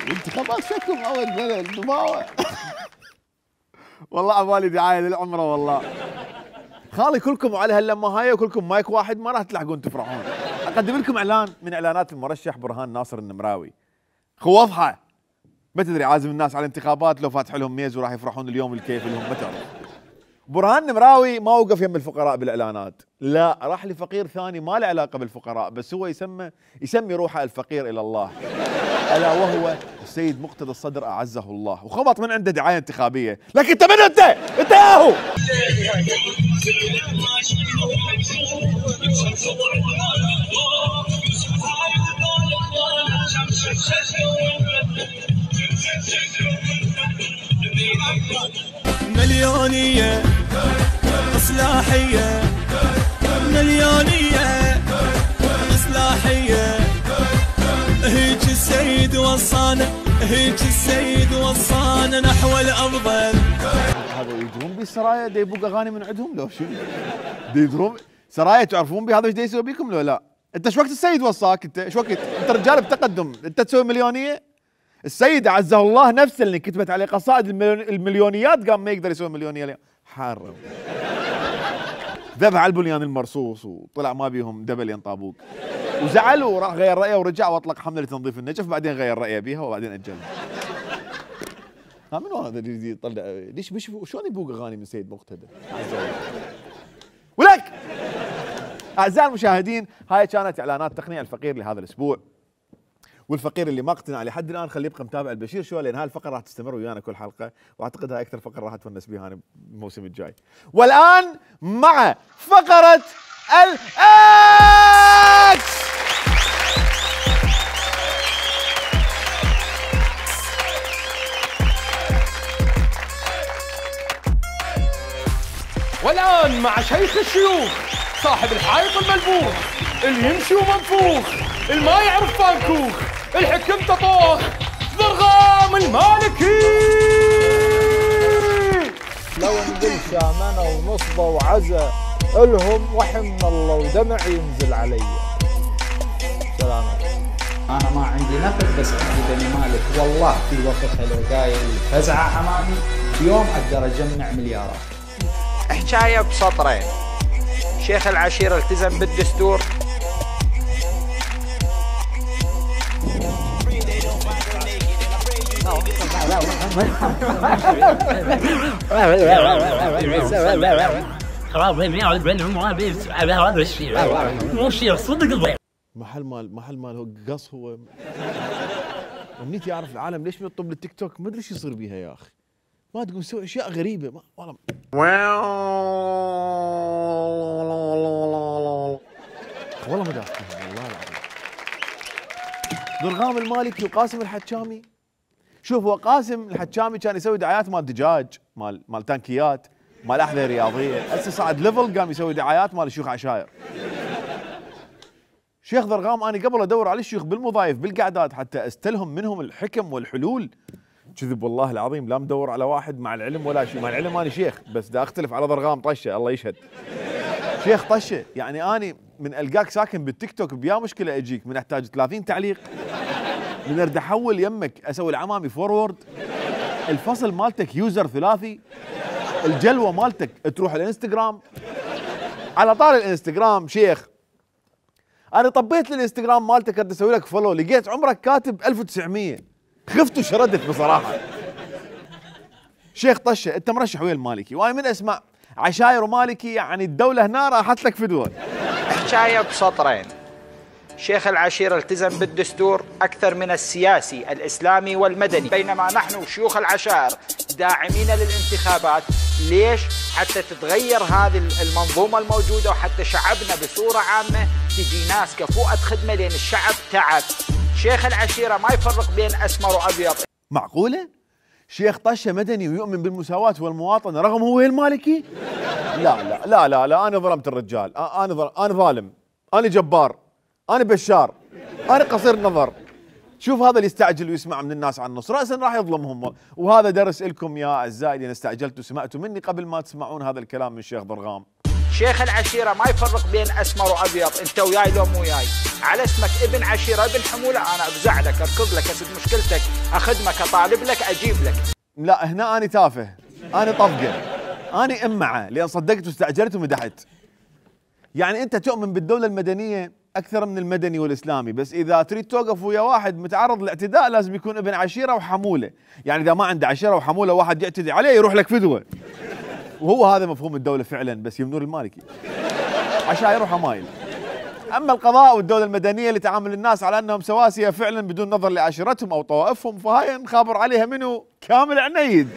الانتخابات شكلهم اول بلد دماوه. والله عبالي دعايه للعمره والله. خالي كلكم على هاللمه هاي وكلكم مايك واحد ما راح تلحقون تفرحون. اقدم لكم اعلان من اعلانات المرشح برهان ناصر النمراوي. خوضحه ما تدري عازم الناس على الانتخابات لو فاتح لهم ميز وراح يفرحون اليوم الكيف لهم ما تعرف. برهان نمراوي ما وقف يم الفقراء بالاعلانات، لا راح لفقير ثاني ما له علاقه بالفقراء، بس هو يسمي روحه الفقير الى الله، الا وهو السيد مقتدى الصدر اعزه الله، وخبط من عنده دعايه انتخابيه، لكن انت من انت؟ انت ياهو. مليونية إصلاحية مليونية وصانا هيك السيد وصانا نحو الافضل. هذا يدرون بالسرايا دا يبوق اغاني من عندهم لو شنو؟ دا يدرون سرايا تعرفون بهذا ايش دا يسوي بيكم لو لا؟ انت شو وقت السيد وصاك انت؟ شو وقت؟ انت رجال بتقدم، انت تسوي مليونيه؟ السيد عزه الله نفسه اللي كتبت عليه قصائد المليونيات قام ما يقدر يسوي مليونيه اليوم، حارم. ذبح على البنيان المرصوص وطلع ما بيهم دبل ينطابوق. وزعل وراح غير رايه ورجع واطلق حمله لتنظيف النجف، بعدين غير رايه بيها وبعدين اجلها. ها منو هذا اللي يطلع ليش شلون يبوق اغاني من سيد مقتدى؟ ولك اعزائي المشاهدين، هاي كانت اعلانات تقنيه الفقير لهذا الاسبوع. والفقير اللي ما اقتنع لحد الان خليه يبقى متابع البشير شو، لان هاي الفقره راح تستمر ويانا كل حلقه، واعتقد هاي اكثر فقره راح اتونس بها انا الموسم الجاي. والان مع فقره الاكس. والآن مع شيخ الشيوخ صاحب الحائط الملبوخ اللي يمشي ومنفوخ اللي ما يعرف فانكوخ الحكم تطوخ ضرغام المالكي. لو نقول شامنة ونصبة وعزة الهم وحي من الله ودمع ينزل علي. سلام. أنا ما عندي نفس بس عندي بني مالك، والله في وقتها لو قايل فزعة أمامي بيوم أقدر أجمع مليارات. حكاية بسطرين. شيخ العشيرة التزم بالدستور. محل مال هو قص هو. امنيتي اعرف العالم ليش بيطلب للتيك توك، ما ادري ايش يصير بيها يا اخي. ما تقوم تسوي اشياء غريبه والله. والله ما دافعين والله العظيم. ضرغام المالكي وقاسم الحجامي. شوف هو قاسم الحجامي كان يسوي دعايات مال دجاج، مال تانكيات، مال احذيه رياضيه، هسه صعد ليفل قام يسوي دعايات مال شيوخ عشاير. شيخ ضرغام انا قبل ادور على الشيوخ بالوظائف بالقعدات حتى استلهم منهم الحكم والحلول. كذب والله العظيم، لا مدور على واحد مع العلم ولا شيء، مع العلم انا شيخ بس دا اختلف على ضرغام طشه الله يشهد. شيخ طشه، يعني اني من القاك ساكن بالتيك توك بيا مشكله اجيك، من احتاج 30 تعليق، من ارد احول يمك اسوي العمامي فورورد، الفصل مالتك يوزر ثلاثي، الجلوه مالتك تروح الانستغرام. على طار الانستغرام شيخ، انا طبيت للانستغرام مالتك ارد اسوي لك فولو، لقيت عمرك كاتب 1900، خفت وشردت بصراحه. شيخ طشه انت مرشح ويا المالكي، وانا من اسمع عشاير ومالكي يعني الدوله هنا راحت لك فدوه. حكايه بسطرين. شيخ العشيرة التزم بالدستور أكثر من السياسي الإسلامي والمدني، بينما نحن شيوخ العشائر داعمين للانتخابات. ليش؟ حتى تتغير هذه المنظومة الموجودة، وحتى شعبنا بصورة عامة تجي ناس كفؤة خدمة، لأن الشعب تعب. شيخ العشيرة ما يفرق بين أسمر وأبيض. معقولة؟ شيخ طشه مدني ويؤمن بالمساواة والمواطنة رغم هو المالكي؟ لا لا لا لا لا، أنا ظلمت الرجال، أنا ظالم، أنا جبار، أنا بشار، أنا قصير نظر. شوف هذا اللي يستعجل ويسمع من الناس عن النص رأسا راح يظلمهم، وهذا درس لكم يا أعزائي اللي استعجلتوا وسمعتوا مني قبل ما تسمعون هذا الكلام من الشيخ ضرغام. شيخ العشيرة ما يفرق بين أسمر وأبيض، أنت وياي لو مو وياي، على اسمك ابن عشيرة ابن حمولة أنا أفزع لك أركض لك أسد مشكلتك أخدمك أطالب لك أجيب لك. لا هنا أنا تافه، أنا طفقة، أنا إمعة لأن صدقت واستعجلت ومدحت. يعني أنت تؤمن بالدولة المدنية أكثر من المدني والإسلامي، بس إذا تريد توقف ويا واحد متعرض للاعتداء لازم يكون ابن عشيرة وحمولة، يعني إذا ما عنده عشيرة وحمولة واحد يعتدي عليه يروح لك فدوة. وهو هذا مفهوم الدولة فعلا، بس يمنون المالكي عشائر وحمايل. أما القضاء والدولة المدنية اللي تعامل الناس على أنهم سواسية فعلا بدون نظر لعشيرتهم أو طوائفهم، فهاي نخابر عليها منو؟ كامل عنيد.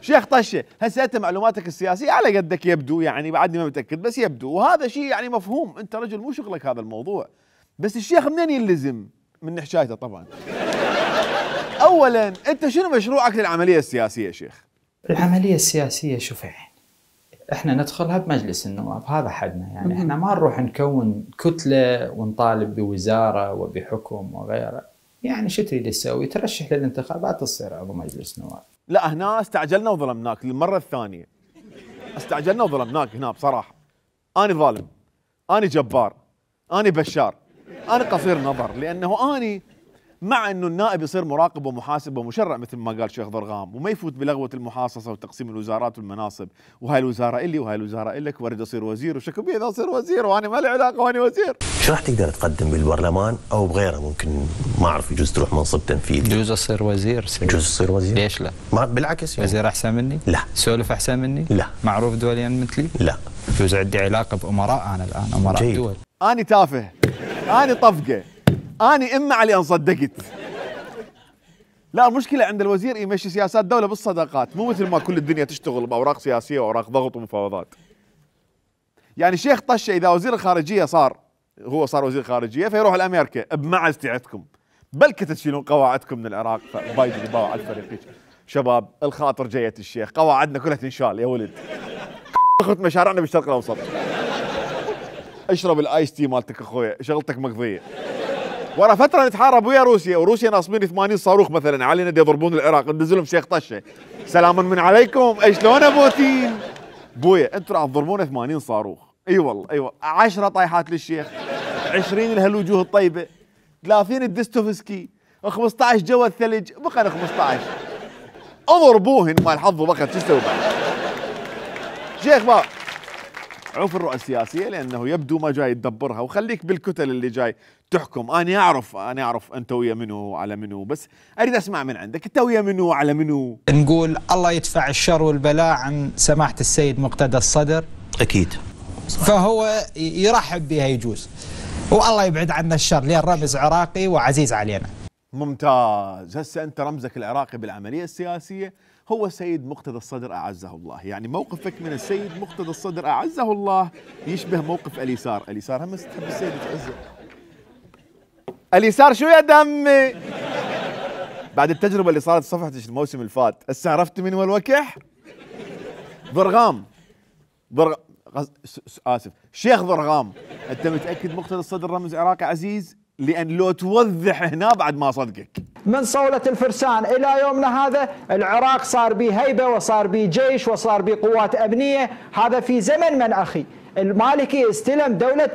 شيخ طشه، هسه انت معلوماتك السياسيه على قدك يبدو، يعني بعدني ما متاكد بس يبدو، وهذا شيء يعني مفهوم، انت رجل مو شغلك هذا الموضوع. بس الشيخ منين يلزم؟ من حشايته طبعا. اولا انت شنو مشروعك للعمليه السياسيه شيخ؟ العمليه السياسيه شوفي، احنا ندخلها بمجلس النواب، هذا حدنا، يعني احنا ما نروح نكون كتله ونطالب بوزاره وبحكم وغيره. يعني شو تريد تسوي؟ ترشح للانتخابات تصير عضو مجلس نواب. لا هنا استعجلنا وظلمناك للمره الثانيه. استعجلنا وظلمناك هنا بصراحه. انا ظالم، انا جبار، انا بشار، انا قصير نظر، لانه انا مع انه النائب يصير مراقب ومحاسب ومشرع مثل ما قال شيخ ضرغام، وما يفوت بلغوه المحاصصه وتقسيم الوزارات والمناصب، وهاي الوزاره الي وهاي الوزاره الك، واريد اصير وزير وشكو بي اذا اصير وزير وانا ما لي علاقه وانا وزير. شو راح تقدر تقدم بالبرلمان او بغيره؟ ممكن ما اعرف يجوز تروح منصب تنفيذي. يجوز اصير وزير. يجوز تصير وزير؟ ليش لا؟ ما بالعكس يعني. وزير احسن مني؟ لا. سولف احسن مني؟ لا. معروف دوليا مثلي؟ لا. يجوز عندي علاقه بامراء انا الان، امراء جيد. دول. انا تافه، انا طفقه، انا اما علي ان صدقت. لا المشكلة عند الوزير يمشي سياسات دولة بالصداقات، مو مثل ما كل الدنيا تشتغل بأوراق سياسية وأوراق ضغط ومفاوضات. يعني شيخ طشة إذا وزير الخارجية صار وزير خارجية فيروح لأمريكا بمعزتي عندكم، بلكي تشيلون قواعدكم من العراق. بايدن يباوع على الفريق. شباب الخاطر جية الشيخ، قواعدنا كلها تنشال يا ولد. اخذ مشاريعنا بالشرق الأوسط. اشرب الايس تي مالتك اخويا، شغلتك مقضية. ورا فتره نتحارب ويا روسيا، وروسيا ناصبين 80 صاروخ مثلا علينا يضربون العراق، ندزلهم شيخ طشه. سلاما من عليكم، شلون بوتين؟ بويا انتم راح تضربون 80 صاروخ، اي والله اي والله، 10 طايحات للشيخ، 20 لهالوجوه الطيبه، 30 الدستوفسكي، 15 جوا الثلج، بقى 15. اضربوهن ما الحظ بقى شو تسوي بعد؟ شيخ بقى عوف الرؤى السياسيه لانه يبدو ما جاي تدبرها، وخليك بالكتل اللي جاي تحكم. انا اعرف انت ويا منو على منو، بس اريد اسمع من عندك انت ويا منو على منو. نقول الله يدفع الشر والبلاء عن سماحه السيد مقتدى الصدر. اكيد. فهو يرحب بها يجوز، والله يبعد عنا الشر، لان رمز عراقي وعزيز علينا. ممتاز. هسه انت رمزك العراقي بالعمليه السياسيه هو السيد مقتدى الصدر اعزه الله، يعني موقفك من السيد مقتدى الصدر اعزه الله يشبه موقف اليسار. اليسار هم تحب السيد تعزه. اليسار شو يا دمي؟ بعد التجربه اللي صارت صفحتك الموسم اللي فات، هسه عرفت من هو الوكح؟ ضرغام اسف شيخ ضرغام. انت متاكد مقتدى الصدر رمز عراقي عزيز؟ لان لو توضح هنا بعد ما صدقك. من صولة الفرسان إلى يومنا هذا العراق صار به هيبة وصار به جيش وصار به قوات أمنية. هذا في زمن من أخي المالكي استلم دولة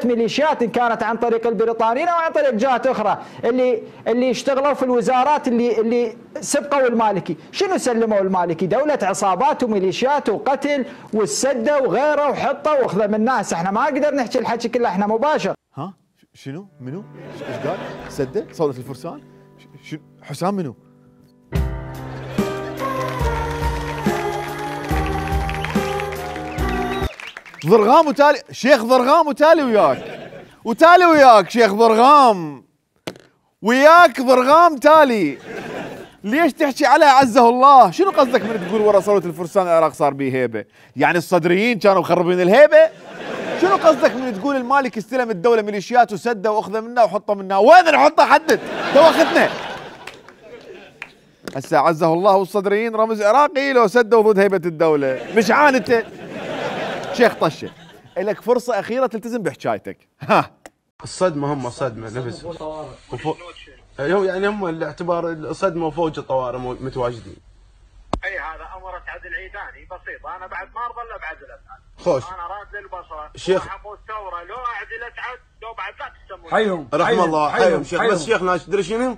ميليشيات إن كانت عن طريق البريطانيين أو عن طريق جهات أخرى اللي اشتغلوا في الوزارات اللي سبقوا المالكي. شنو سلموا المالكي؟ دولة عصابات وميليشيات وقتل والسدة وغيره وحطة واخذه من الناس. احنا ما نقدر نحكي الحكي كله، احنا مباشر. ها شنو؟ منو؟ ايش قال؟ سدة؟ صولة الفرسان؟ حسام منو؟ ضرغام وتالي، شيخ ضرغام وتالي وياك شيخ ضرغام، وياك ضرغام تالي. ليش تحكي عليه عزه الله؟ شنو قصدك من تقول ورا صولة الفرسان العراق صار به هيبة؟ يعني الصدريين كانوا مخربين الهيبة؟ شنو قصدك من تقول المالك استلم الدولة ميليشيات وسدها واخذها منا وحطها منا؟ وين نحطها؟ حدد توختنا. هسه عزه الله والصدريين رمز عراقي لو سدوا ضد هيبة الدولة، مش عانته. شيخ طشة لك فرصة أخيرة تلتزم بحكايتك. ها الصدمة هم صدمة نفس يعني هم الاعتبار الصدمة وفوج الطوارئ متواجدين. اي هذا امر اسعد العيداني بسيط، انا بعد ما ارضى الا بعزل اسعد. خوش انا راد للبصره شيخ حمود الثوره لو اعزل اسعد لو بعد لا تسمون حيهم رحم الله حيهم شيخ. بس شيخنا تدري شنو؟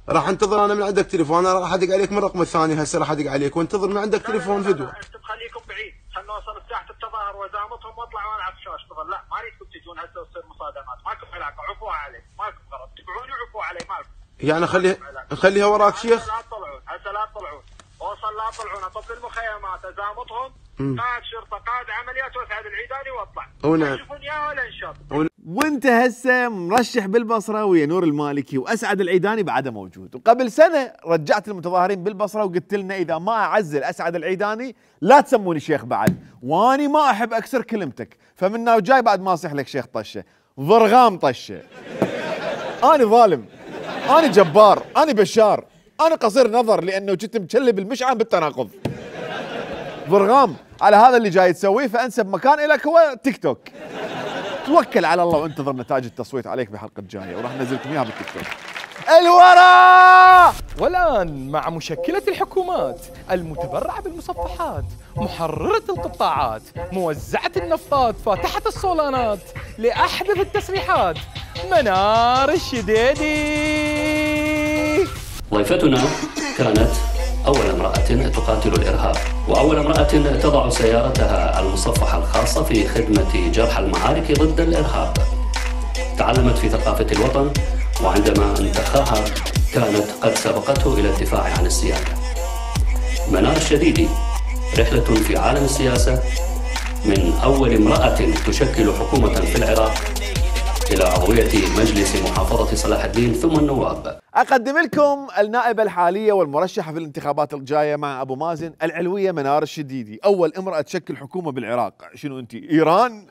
راح انتظر انا من عندك تليفون، انا راح ادق عليك من الرقم الثاني هسه راح ادق عليك وانتظر من عندك تليفون فيديو. انتم خليكم بعيد، خلنا نوصل ساحه التظاهر وزامتهم واطلع وانا على الشاشه اشتغل. لا ما اريدكم تجون هسه وتصير مصادمات، ماكو علاقه، عفوا علي، ماكو غرض، تبعوني وعفوا علي ماكو. يعني نخليها وراك شيخ. لا تطلعون هسه، لا تطلعون، اوصل لا تطلعون، اطب المخيمات ازامتهم، قائد شرطه قائد عمليات واسعد العيداني واطلع. ما تشوفون اياه ولا انشط. وانت هسه مرشح بالبصره ويا نور المالكي واسعد العيداني بعده موجود، وقبل سنه رجعت المتظاهرين بالبصره وقلت لنا اذا ما اعزل اسعد العيداني لا تسموني شيخ بعد، واني ما احب اكسر كلمتك، فمنا وجاي بعد ما اصيح لك شيخ طشه، ضرغام طشه. انا ظالم، انا جبار، انا بشار، انا قصير نظر لانه كنت مشلب المشعل بالتناقض. ضرغام على هذا اللي جاي تسويه، فانسب مكان لك هو تيك توك. توكل على الله وانتظر نتائج التصويت عليك بحلقه جايه وراح ننزلكم اياها بالتيك توك. الورا! والآن مع مشكلة الحكومات، المتبرعة بالمصفحات، محررة القطاعات، موزعة النفطات، فاتحة الصولانات، لأحدث التسريحات، منار الشديدي. ضيفتنا كانت أول امرأة تقاتل الإرهاب، وأول امرأة تضع سيارتها المصفحة الخاصة في خدمة جرح المعارك ضد الإرهاب. تعلمت في ثقافة الوطن، وعندما انتخاها كانت قد سبقته إلى الدفاع عن السيادة. منار الشديدي، رحلة في عالم السياسة من أول امرأة تشكل حكومة في العراق إلى عضوية مجلس محافظة صلاح الدين ثم النواب. أقدم لكم النائبة الحالية والمرشحة في الانتخابات الجاية مع أبو مازن، العلوية منار الشديدي، أول امرأة تشكل حكومة بالعراق. شنو أنت إيران؟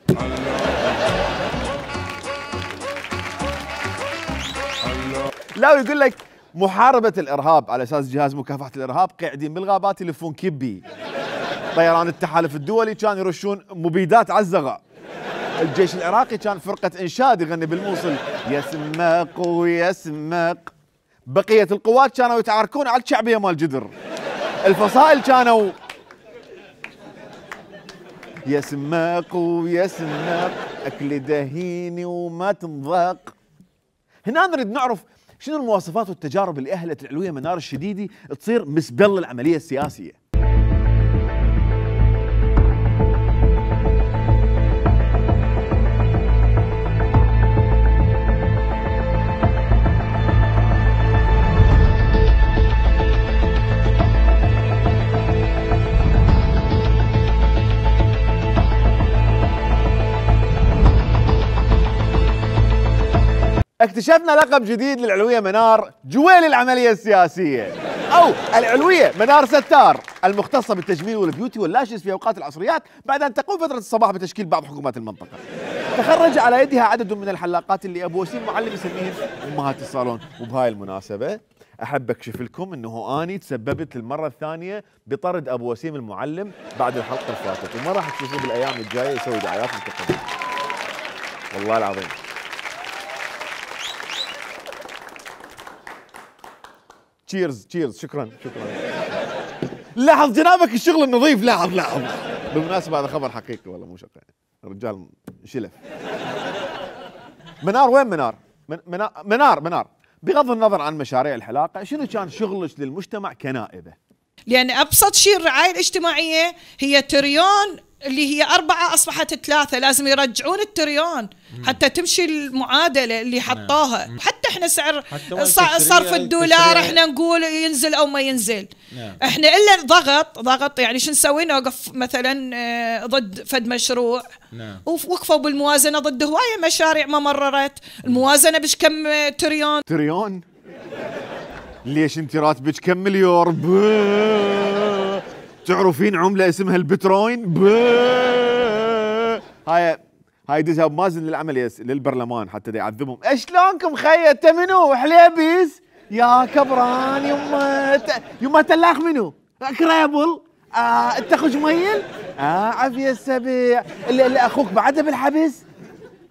لا يقول لك محاربة الإرهاب على أساس جهاز مكافحة الإرهاب قاعدين بالغابات يلفون كبي. طيران التحالف الدولي كان يرشون مبيدات على الزغا. الجيش العراقي كان فرقة إنشاد يغني بالموصل يسمق ويسمق. بقية القوات كانوا يتعاركون على الشعبية مال جدر. الفصائل كانوا يسمق ويسمق أكل دهيني وما تنضاق. هنا نريد نعرف شنو المواصفات والتجارب اللي أهلت العلوية منار الشديدي تصير مسبل العملية السياسية. اكتشفنا لقب جديد للعلوية منار، جويل العملية السياسية، أو العلوية منار ستار، المختصة بالتجميل والبيوتي واللاشز في أوقات العصريات بعد أن تقوم فترة الصباح بتشكيل بعض حكومات المنطقة. تخرج على يدها عدد من الحلاقات اللي أبو وسيم معلم يسميهم أمهات الصالون. وبهاي المناسبة أحب أكشف لكم أنه أني تسببت للمرة الثانية بطرد أبو وسيم المعلم بعد الحلقة اللي فاتت، وما راح تشوفوه بالأيام الجاية يسوي دعايات متقدمة. والله العظيم. تشيرز تشيرز. شكرا. لاحظ جنابك الشغل النظيف. لاحظ. بالمناسبة هذا خبر حقيقي والله مو شقة. الرجال شلف. منار وين منار؟ منار بغض النظر عن مشاريع الحلاقة، شنو كان شغلك للمجتمع كنائبة؟ لأن أبسط شيء الرعاية الاجتماعية هي تريون اللي هي 4 أصبحت 3، لازم يرجعون التريون حتى تمشي المعادلة اللي حطوها. حتى احنا سعر صرف الدولار احنا نقول ينزل أو ما ينزل. احنا إلا ضغط يعني شو نسوي؟ نوقف مثلا ضد فد مشروع. ووقفوا بالموازنة ضد هواية مشاريع ما مررت. الموازنة بش كم تريون؟ ليش انت راتبك كم مليار؟ تعرفين عملة اسمها البتروين؟ هاي دزها بمازن للعمل للبرلمان حتى يعذبهم. اشلونكم خي؟ انت منو؟ حليبيز؟ يا كبران يما تلاخ منو؟ كريبل؟ انت خجميل؟ عافية السبيع اللي اخوك بعده بالحبس؟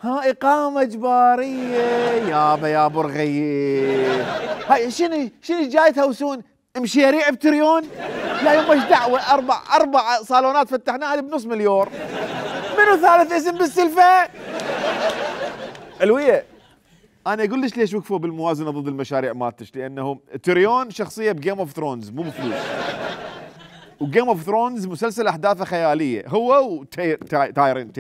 ها إقامة إجبارية يا برغيب. هاي شنو جاي تهوسون؟ مشاريع بتريون؟ لا يما ايش دعوة؟ أربع صالونات فتحناها بنص مليون. منو ثالث اسم بالسلفة؟ علوية أنا أقول لك ليش وقفوا بالموازنة ضد المشاريع مالتش؟ لأنه تريون شخصية بجيم اوف ثرونز مو بفلوس. وجيم اوف ثرونز مسلسل أحداثه خيالية، هو تايرن.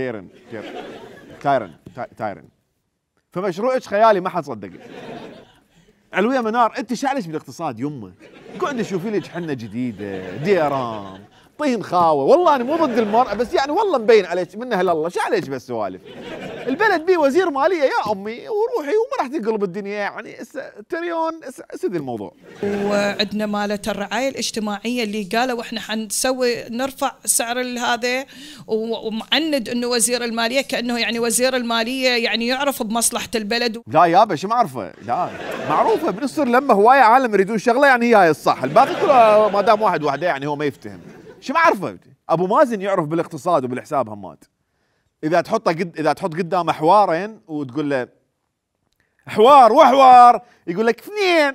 فمشروعك خيالي ما حد صدقك. علوية منار انت شعلش بالاقتصاد يمه؟ قعد شوفي لك حنه جديده، ديرام، طين خاوه. والله انا مو ضد المرأة بس يعني والله مبين عليك منها لله. شعلش بس سوالف؟ البلد بيه وزير ماليه يا امي وروحي وما راح تنقلب الدنيا يعني. تريون سد الموضوع. وعندنا مالة الرعاية الاجتماعية اللي قالوا احنا حنسوي نرفع سعر هذا، ومعند انه وزير المالية كأنه يعني وزير المالية يعني يعرف بمصلحة البلد. لا يابا شو معرفه؟ لا معروفة بنصر لما هواية عالم يريدون شغلة يعني هي الصح، الباقي كله ما دام واحد وحده يعني هو ما يفتهم. شو معرفه؟ ابو مازن يعرف بالاقتصاد وبالحساب همات. اذا تحط قدامه حوارين وتقول له حوار وحوار، يقول لك اثنين.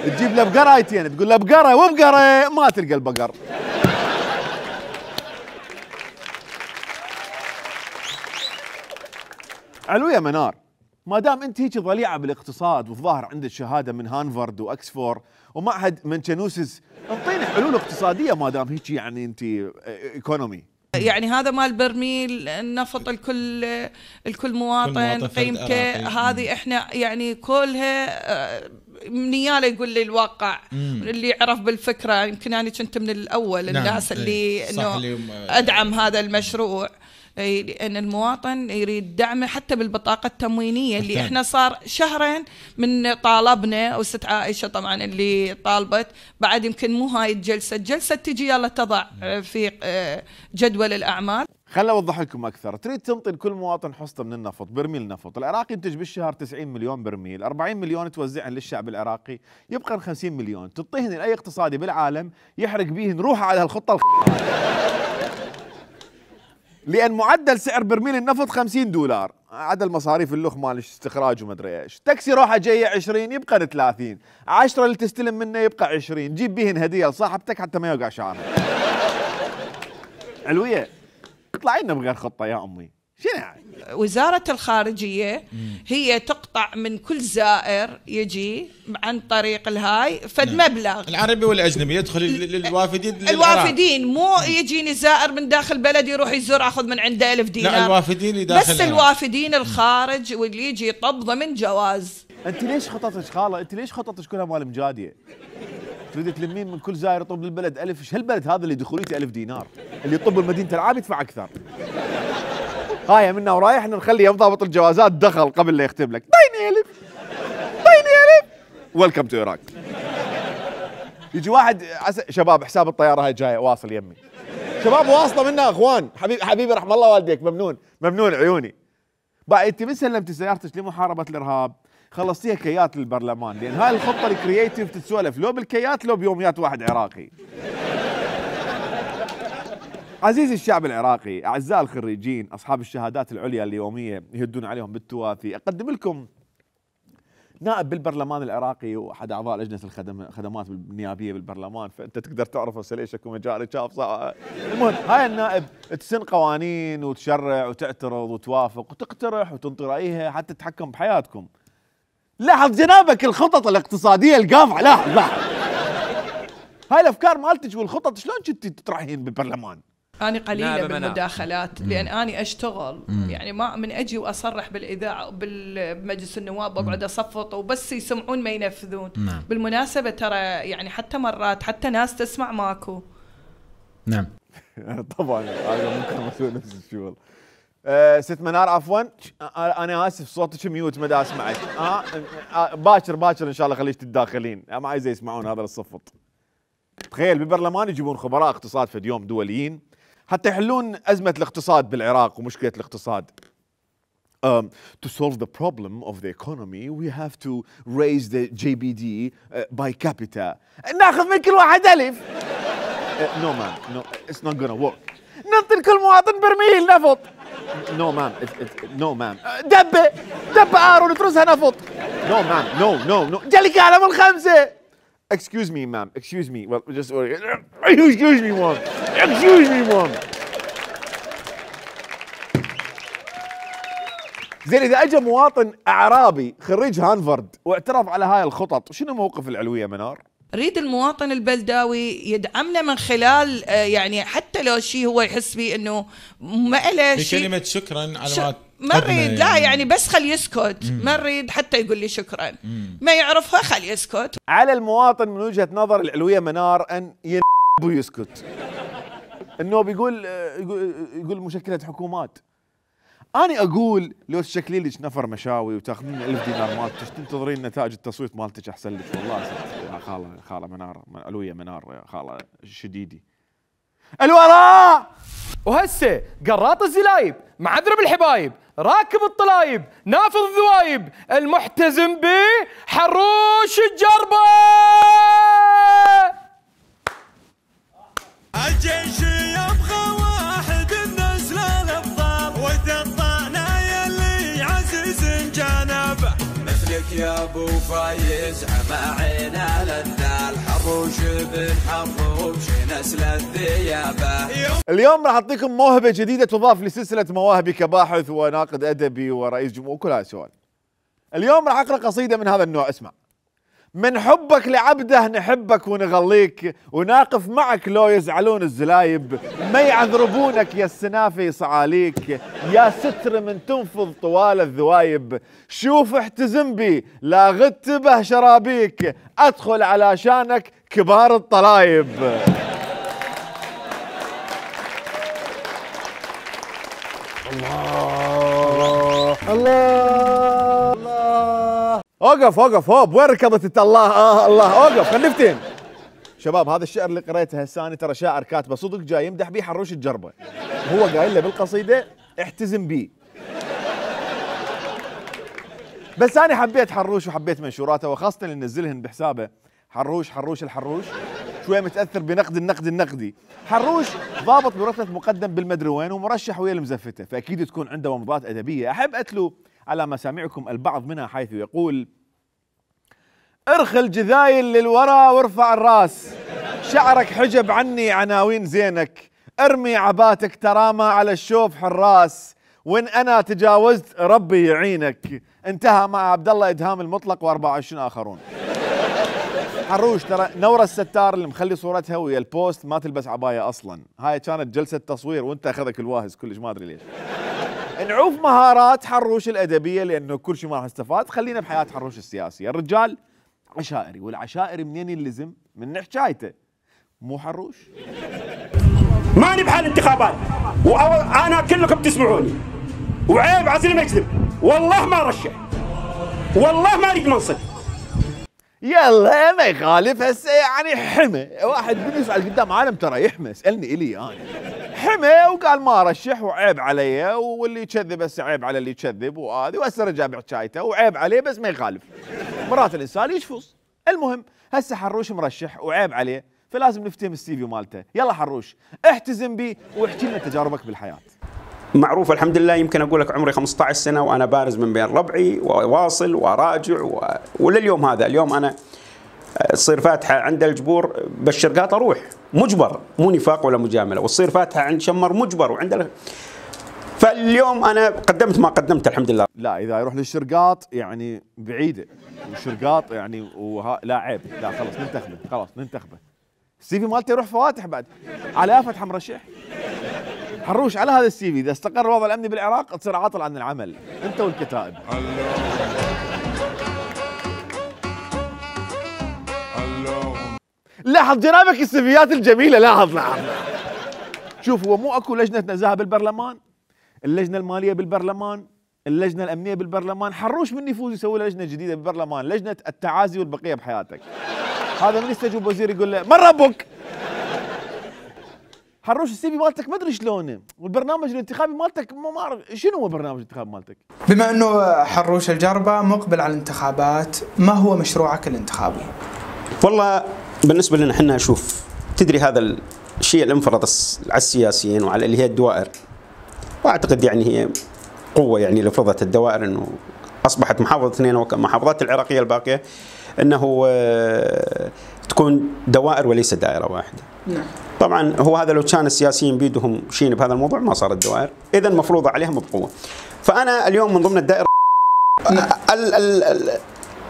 تجيب له بقرايتين تقول له بقره وبقره، ما تلقى البقر. علوية منار، ما دام انت هيك ضليعه بالاقتصاد والظاهر عندك شهاده من هانفارد واكسفورد ومعهد مانشانوسس، انطيني حلول اقتصاديه ما دام هيك يعني انت ايكونومي. يعني هذا مال برميل النفط الكل مواطن قيمته هذه احنا يعني كلها منياله يقول لي الواقع اللي يعرف بالفكره. يمكن انا كنت من الاول الناس اللي انه ادعم هذا المشروع، لأن المواطن يريد دعمه حتى بالبطاقة التموينية اللي احنا صار شهرين من طالبنا، وست عائشة طبعا اللي طالبت بعد. يمكن مو هاي الجلسة تجي يلا تضع في جدول الأعمال. خلنا أوضح لكم أكثر. تريد تنطي لكل مواطن حصة من النفط، برميل نفط. العراقي ينتج بالشهر 90 مليون برميل، 40 مليون توزعهن للشعب العراقي، يبقى 50 مليون تعطيهن لأي اقتصادي بالعالم يحرق بيهن روحه على هالخطة لأن معدل سعر برميل النفط $50 عدا المصاريف اللخ مال استخراج وما ادري ايش. تاكسي روحه جايه 20 يبقى 30، 10 اللي تستلم منه يبقى 20، جيب بيهن هديه لصاحبتك حتى ما يوقع شعرها. علوية اطلعي لنا بغير خطه يا امي. شنو يعني؟ وزارة الخارجية هي تقطع من كل زائر يجي عن طريق الهاي فد مبلغ. العربي والاجنبي يدخل للوافدين الوافدين، مو يجيني زائر من داخل بلد يروح يزور اخذ من عنده 1000 دينار. لا الوافدين اللي داخل بس الوافدين الخارج واللي يجي يطب ضمن جواز. انت ليش خططك خاله؟ انت ليش خططك كلها مال مجاديه؟ تريد تلمين من كل زائر يطب للبلد 1000. ايش هالبلد هذا اللي دخوليته 1000 دينار؟ اللي يطب بمدينه العاب يدفع اكثر. هاي منا ورايح نخلي ضابط الجوازات دخل قبل لا يختم لك. طيني 1000 ويلكم تو عراق. يجي واحد شباب حساب الطياره هاي جايه واصل يمي. شباب واصله منا اخوان. حبيبي رحم الله والديك، ممنون عيوني. بعد انت من سلمتي سيارتك لمحاربه الارهاب خلصتيها كيات للبرلمان، لان هاي الخطه الكرييتيف تتسولف لو بالكيات لو بيوميات واحد عراقي. عزيزي الشعب العراقي، أعزائي الخريجين، أصحاب الشهادات العليا اليومية يهدون عليهم بالتوافي، أقدم لكم نائب بالبرلمان العراقي وأحد أعضاء لجنة الخدمات النيابية بالبرلمان، فأنت تقدر تعرف هسه ليش أكو مجال شاف. المهم هاي النائب تسن قوانين وتشرع وتعترض وتوافق وتقترح وتنطي رأيها حتى تتحكم بحياتكم. لاحظ جنابك الخطط الاقتصادية القافعة، لاحظ هاي الأفكار مالتك والخطط شلون كنت تطرحين بالبرلمان؟ أنا قليلة بالمداخلات لأن أنا أشتغل يعني ما من أجي وأصرح بالإذاعة بمجلس النواب وأقعد أصفط وبس يسمعون ما ينفذون. بالمناسبة ترى يعني حتى مرات حتى ناس تسمع ماكو. نعم. طبعا أنا ممكن أسوي نفس الشغل. ست منار عفوا أنا آسف صوتك ميوت ما دا أسمعك. باكر إن شاء الله خليش تتداخلين، ما عايز يسمعون هذا الصفط. تخيل بالبرلمان يجيبون خبراء اقتصاد في اليوم دوليين حتى يحلون أزمة الاقتصاد بالعراق ومشكلة الاقتصاد. To solve the problem of the economy we have to raise the JBD by capita. ناخذ من كل واحد 1000. No man, no, it's not gonna work. ننطي لكل مواطن برميل نفط. No man, no man. دبة عار ونترسها نفط. No man, no. جالك على من 5. Excuse me, ma'am. Excuse me. Well, just excuse me, ma'am. Excuse me, ma'am. زين إذا أجا مواطن أعرابي خريج هانفارد واعترف على هاي الخطط، شنو موقف العلوية منار؟ ريد المواطن البلداوي يدعمنا من خلال يعني حتى لو شيء هو يحس بيه انه ما له شيء بكلمة شكرا على ما نريد لا يعني بس خلي يسكت، ما نريد حتى يقول لي شكرا، ما يعرفها خلي يسكت. على المواطن من وجهة نظر العلوية منار ان ويسكت. انه يقول مشكلة حكومات. أنا أقول لو تشكلين لك نفر مشاوي وتاخذين 1000 دينار مالتك تنتظرين نتائج التصويت مالتك أحسن لك والله. يا خالة منار علوية منار يا خالة شديدي. الوراء وهسه قراط الزلايب معذرب الحبايب راكب الطلايب نافذ الذوايب المحتزم به حروش الجربة. الجيش يبغى واحد النزل الأبطال يا ابو فايز عمعنا لنا الحروش بن حروش نسل الذيابه. اليوم راح اعطيكم موهبه جديده تضاف لسلسله مواهبي كباحث وناقد ادبي ورئيس جمهور وكل هاي السؤال. اليوم راح اقرا قصيده من هذا النوع. اسمع. من حبك لعبده نحبك ونغليك، وناقف معك لو يزعلون الزلايب، ما يعذربونك يا السنافي صعاليك، يا ستر من تنفض طوال الذوايب، شوف احتزم بي لا غدت به شرابيك، ادخل على شانك كبار الطلايب. الله الله الله. اوقف اوقف هوب، وين ركضت الله الله، اوقف خلفتين. شباب هذا الشعر اللي قريته هساني ترى شاعر كاتبه صدق جاي يمدح بيه حروش الجربه. هو قايل له بالقصيده احتزم بيه. بس انا حبيت حروش وحبيت منشوراته، وخاصه اللي نزلهن بحسابه. حروش الحروش شويه متاثر بنقد النقد النقدي. حروش ضابط برتبه مقدم بالمدري وين ومرشح ويا المزفته، فاكيد تكون عنده ومضات ادبيه. احب اتلو على مسامعكم البعض منها حيث يقول: ارخي الجذايل للورى وارفع الراس، شعرك حجب عني عناوين زينك، ارمي عباتك ترامى على الشوف حراس، وان انا تجاوزت ربي يعينك. انتهى مع عبد الله ادهام المطلق و24 اخرون. حروش ترى نورة الستار اللي مخلي صورتها ويا البوست ما تلبس عباية اصلا، هاي كانت جلسة تصوير وانت اخذك الواهز كلش ما ادري ليش. نعوف مهارات حروش الادبية لانه كل شيء ما راح استفاد. خلينا بحياة حروش السياسية. الرجال عشائري، والعشائري منين يلزم؟ من حكايته، مو حروش. ماني بحال انتخابات وانا كلكم تسمعوني، وعيب عزل ما يكذب، والله ما رشح، والله ما اريد منصب. يلا ما يخالف. هسه يعني حمى واحد من يسأل قدام عالم ترى يحمى. اسالني الي انا حمى وقال ما رشح وعيب علي، واللي يكذب هسه عيب على اللي يكذب، وهذه وهسه رجع بحكايته وعيب عليه بس ما يخالف. مرات الانسان يشفص. المهم هسه حروش مرشح وعيب عليه، فلازم نفتهم السي في مالته. يلا حروش احتزم بي واحكي لنا تجاربك بالحياه. معروف الحمد لله، يمكن اقول لك عمري 15 سنه وانا بارز من بين ربعي وواصل وراجع ولليوم هذا. اليوم انا تصير فاتحه عند الجبور بالشرقاط اروح مجبر، مو نفاق ولا مجامله، وتصير فاتحه عند شمر مجبر وعند فاليوم انا قدمت ما قدمت الحمد لله. لا اذا يروح للشرقاط يعني بعيده، والشرقاط يعني لا عيب، لا خلص ننتخبه، خلاص ننتخبه. السي في مالته يروح فواتح بعد على فتحه مرشح. حروش على هذا السي في اذا استقر الوضع الامني بالعراق تصير عاطل عن العمل انت والكتائب. لاحظ جنابك السيفيات الجميله، لاحظ. شوف هو مو اكو لجنه نزاهه بالبرلمان، اللجنه الماليه بالبرلمان، اللجنه الامنيه بالبرلمان. حروش من يفوز يسوي له لجنه جديده بالبرلمان، لجنه التعازي والبقيه بحياتك. هذا من يستجوب وزير يقول له من ربك؟ حروش السي في مالتك ما ادري شلونه، والبرنامج الانتخابي مالتك ما اعرف شنو هو البرنامج الانتخابي مالتك. بما انه حروش الجربه مقبل على الانتخابات، ما هو مشروعك الانتخابي؟ والله بالنسبه لنا احنا شوف، تدري هذا الشيء اللي انفرض على السياسيين وعلى اللي هي الدوائر، واعتقد يعني هي قوه يعني اللي فرضت الدوائر، انه اصبحت محافظه اثنين ومحافظات العراقيه الباقيه انه تكون دوائر وليس دائره واحده. نعم. طبعا هو هذا لو كان السياسيين بيدهم شيء بهذا الموضوع ما صارت دوائر، اذا مفروضه عليهم بقوه. فانا اليوم من ضمن الدائره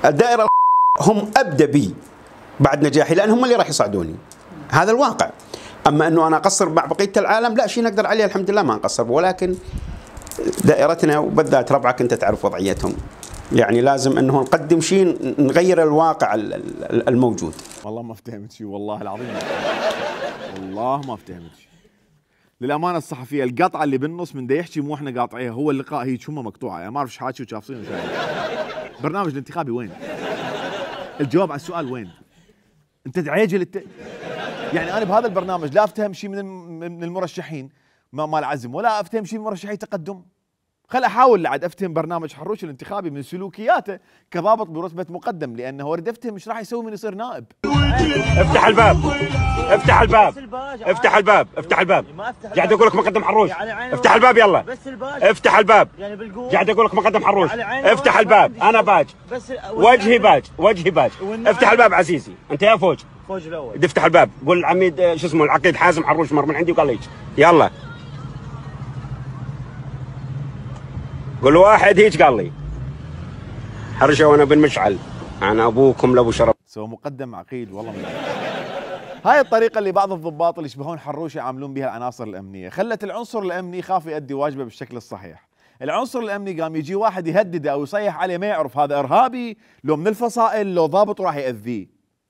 الدائره هم ابدا بي بعد نجاحي، لان هم اللي راح يصعدوني، هذا الواقع. اما انه انا اقصر مع بقيه العالم لا، شيء نقدر عليه الحمد لله ما نقصر، ولكن دائرتنا وبالذات ربعك انت تعرف وضعيتهم، يعني لازم انه نقدم شيء نغير الواقع الموجود. والله ما افتهمت شيء، والله العظيم والله ما افتهمت شيء. للامانه الصحفيه القطعه اللي بالنص من دا يحكي مو احنا قاطعيها، هو اللقاء هي شمه مقطوعه، يعني ما اعرف ايش حاكي وشافصين وشايفين. برنامج الانتخابي وين؟ الجواب على السؤال وين؟ انت تعجل يعني انا بهذا البرنامج لا افتهم شيء من المرشحين مال عزم، ولا افتهم شيء من مرشحي تقدم. خل احاول لعد افتهم برنامج حروش الانتخابي من سلوكياته كضابط برتبه مقدم، لانه اريد افتهم ايش راح يسوي من يصير نائب. افتح الباب، افتح الباب، افتح الباب، افتح الباب. قاعد اقول لك مقدم حروش، افتح الباب يلا. افتح الباب. قاعد اقول لك مقدم حروش، افتح الباب. انا باج. وجهي باج، وجهي باج. افتح الباب عزيزي، انت يا فوج. فوج الاول. افتح الباب، قول العميد شو اسمه العقيد حازم حروش مر من عندي وقال لي يلا. قول واحد هيك قال لي حرشه وانا بن مشعل، انا ابوكم لابو شرف. سوى مقدم عقيد والله من هاي الطريقه اللي بعض الضباط اللي يشبهون حروش يعاملون بها العناصر الامنيه، خلت العنصر الامني يخاف يؤدي واجبه بالشكل الصحيح. العنصر الامني قام يجي واحد يهدده او يصيح عليه ما يعرف هذا ارهابي لو من الفصائل لو ضابط وراح ياذيه.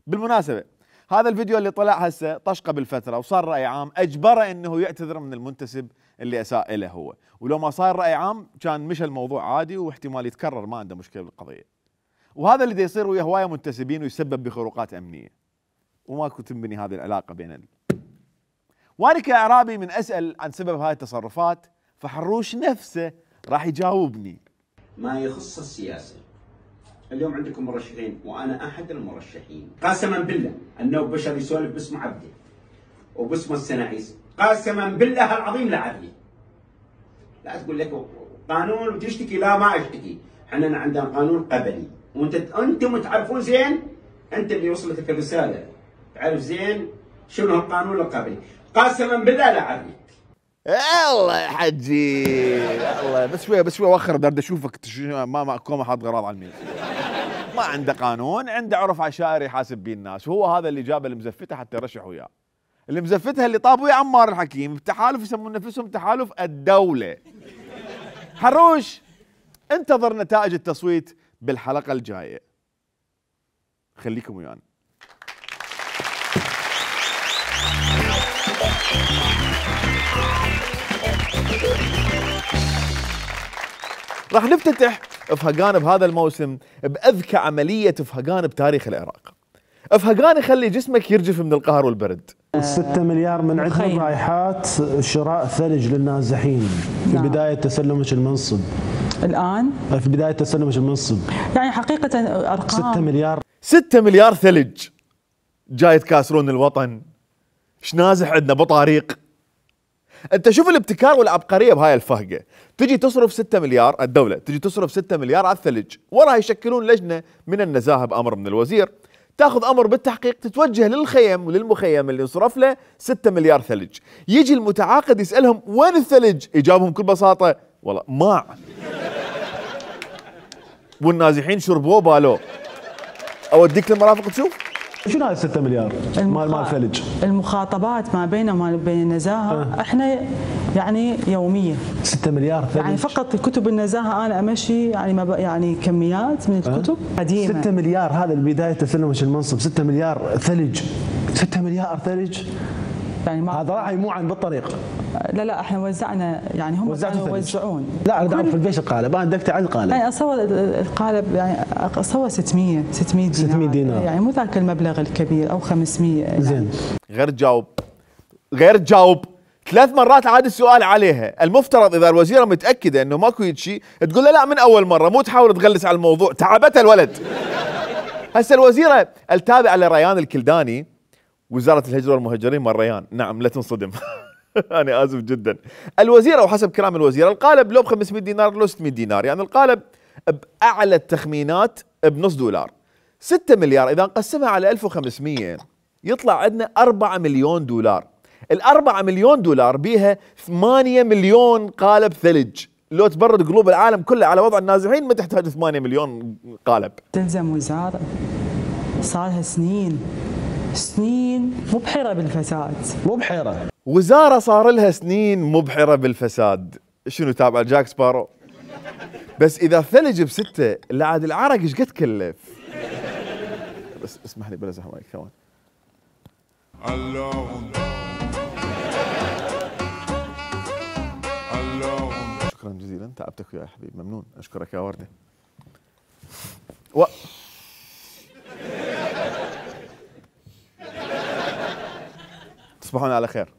بالمناسبه هذا الفيديو اللي طلع هسه طش قبل فتره وصار راي عام اجبره انه يعتذر من المنتسب اللي اساء له هو، ولو ما صار راي عام كان مشى الموضوع عادي واحتمال يتكرر، ما عنده مشكله بالقضيه. وهذا اللي يصير ويا هوايه منتسبين ويسبب بخروقات امنيه. وماكو تنبني هذه العلاقه بين وانا كاعرابي من اسال عن سبب هاي التصرفات، فحروش نفسه راح يجاوبني. ما يخص السياسه. اليوم عندكم مرشحين وانا احد المرشحين، قسما بالله انه بشر يسولف باسم عبده وباسم السناعيس، قسما بالله العظيم لا عدلي. لا تقول لك قانون وتشتكي، لا ما اشتكي، احنا عندنا قانون قبلي وانتم تعرفون زين، انت اللي وصلتك الرساله تعرف زين شنو القانون القبلي، قسما بالله لا عدلي. الله يا حجي الله، بس شوي وخر بدي اشوفك ما كوما حاط غراض على الميز. ما عنده قانون، عنده عرف عشائري يحاسب بيه الناس، وهو هذا اللي جاب المزفته حتى يرشح وياه. اللي مزفتها اللي طاب ويا عمار الحكيم بتحالف يسمون نفسهم تحالف الدوله. حروش انتظر نتائج التصويت بالحلقه الجايه. خليكم ويانا. راح نفتتح افهقان بهذا الموسم باذكى عمليه افهقان بتاريخ العراق. افهقان يخلي جسمك يرجف من القهر والبرد. 6 مليار من عندهم رايحات شراء ثلج للنازحين في بدايه تسلمك المنصب. الان في بدايه تسلمك المنصب يعني حقيقه ارقام 6 مليار ثلج جاي تكاسرون الوطن. ايش نازح عندنا بطاريق. انت شوف الابتكار والعبقريه بهاي الفهقه، تجي تصرف 6 مليار، الدوله تجي تصرف 6 مليار على الثلج، وراها يشكلون لجنه من النزاهه بامر من الوزير تاخذ امر بالتحقيق، تتوجه للخيم وللمخيم اللي انصرف له 6 مليار ثلج. يجي المتعاقد يسالهم وين الثلج؟ يجاوبهم بكل بساطه والله ماع. والنازحين شربوه بالو. اوديك للمرافق تشوف. شنو هاي 6 مليار مال ثلج؟ المخاطبات ما بينه وما بين النزاهه احنا يعني يوميه 6 مليار ثلج، يعني فقط كتب النزاهه انا امشي يعني كميات من الكتب قديمه. 6 مليار هذا بدايه تسلمك المنصب، 6 مليار ثلج، 6 مليار ثلج يعني هذا راح يموعن بالطريق. لا احنا وزعنا يعني هم كانوا يوزعون. لا اريد اعرف قديش القالب، انا دقت على القالب. يعني اصور القالب يعني اصور 600 دينار يعني مو ذاك المبلغ الكبير او 500 زين. غير تجاوب 3 مرات عاد السؤال عليها. المفترض اذا الوزيره متاكده انه ماكو شيء تقول له لا من اول مره، مو تحاول تغلس على الموضوع، تعبتها الولد. هسه الوزيره التابعه لريان الكلداني وزاره الهجره والمهجرين مال ريان، نعم لا تنصدم. انا اسف جدا. الوزيره وحسب كلام الوزيره القالب لو ب 500 دينار لو 600 دينار، يعني القالب باعلى التخمينات بنص دولار. 6 مليار اذا نقسمها على 1500 يطلع عندنا 4 مليون دولار. ال4 مليون دولار بيها 8 مليون قالب ثلج. لو تبرد قلوب العالم كله على وضع النازحين ما تحتاج 8 مليون قالب. تلزم وزاره صار لها سنين مبحره بالفساد. مبحره وزاره صار لها سنين مبحره بالفساد. شنو تابع جاك سبارو؟ بس اذا ثلج ب6 اللي عاد العرق ايش قد كلف. بس اسمح لي بلا زحمه ثواني. شكرا جزيلا، تعبتك يا حبيبي، ممنون، اشكرك يا ورده. تصبحون على خير.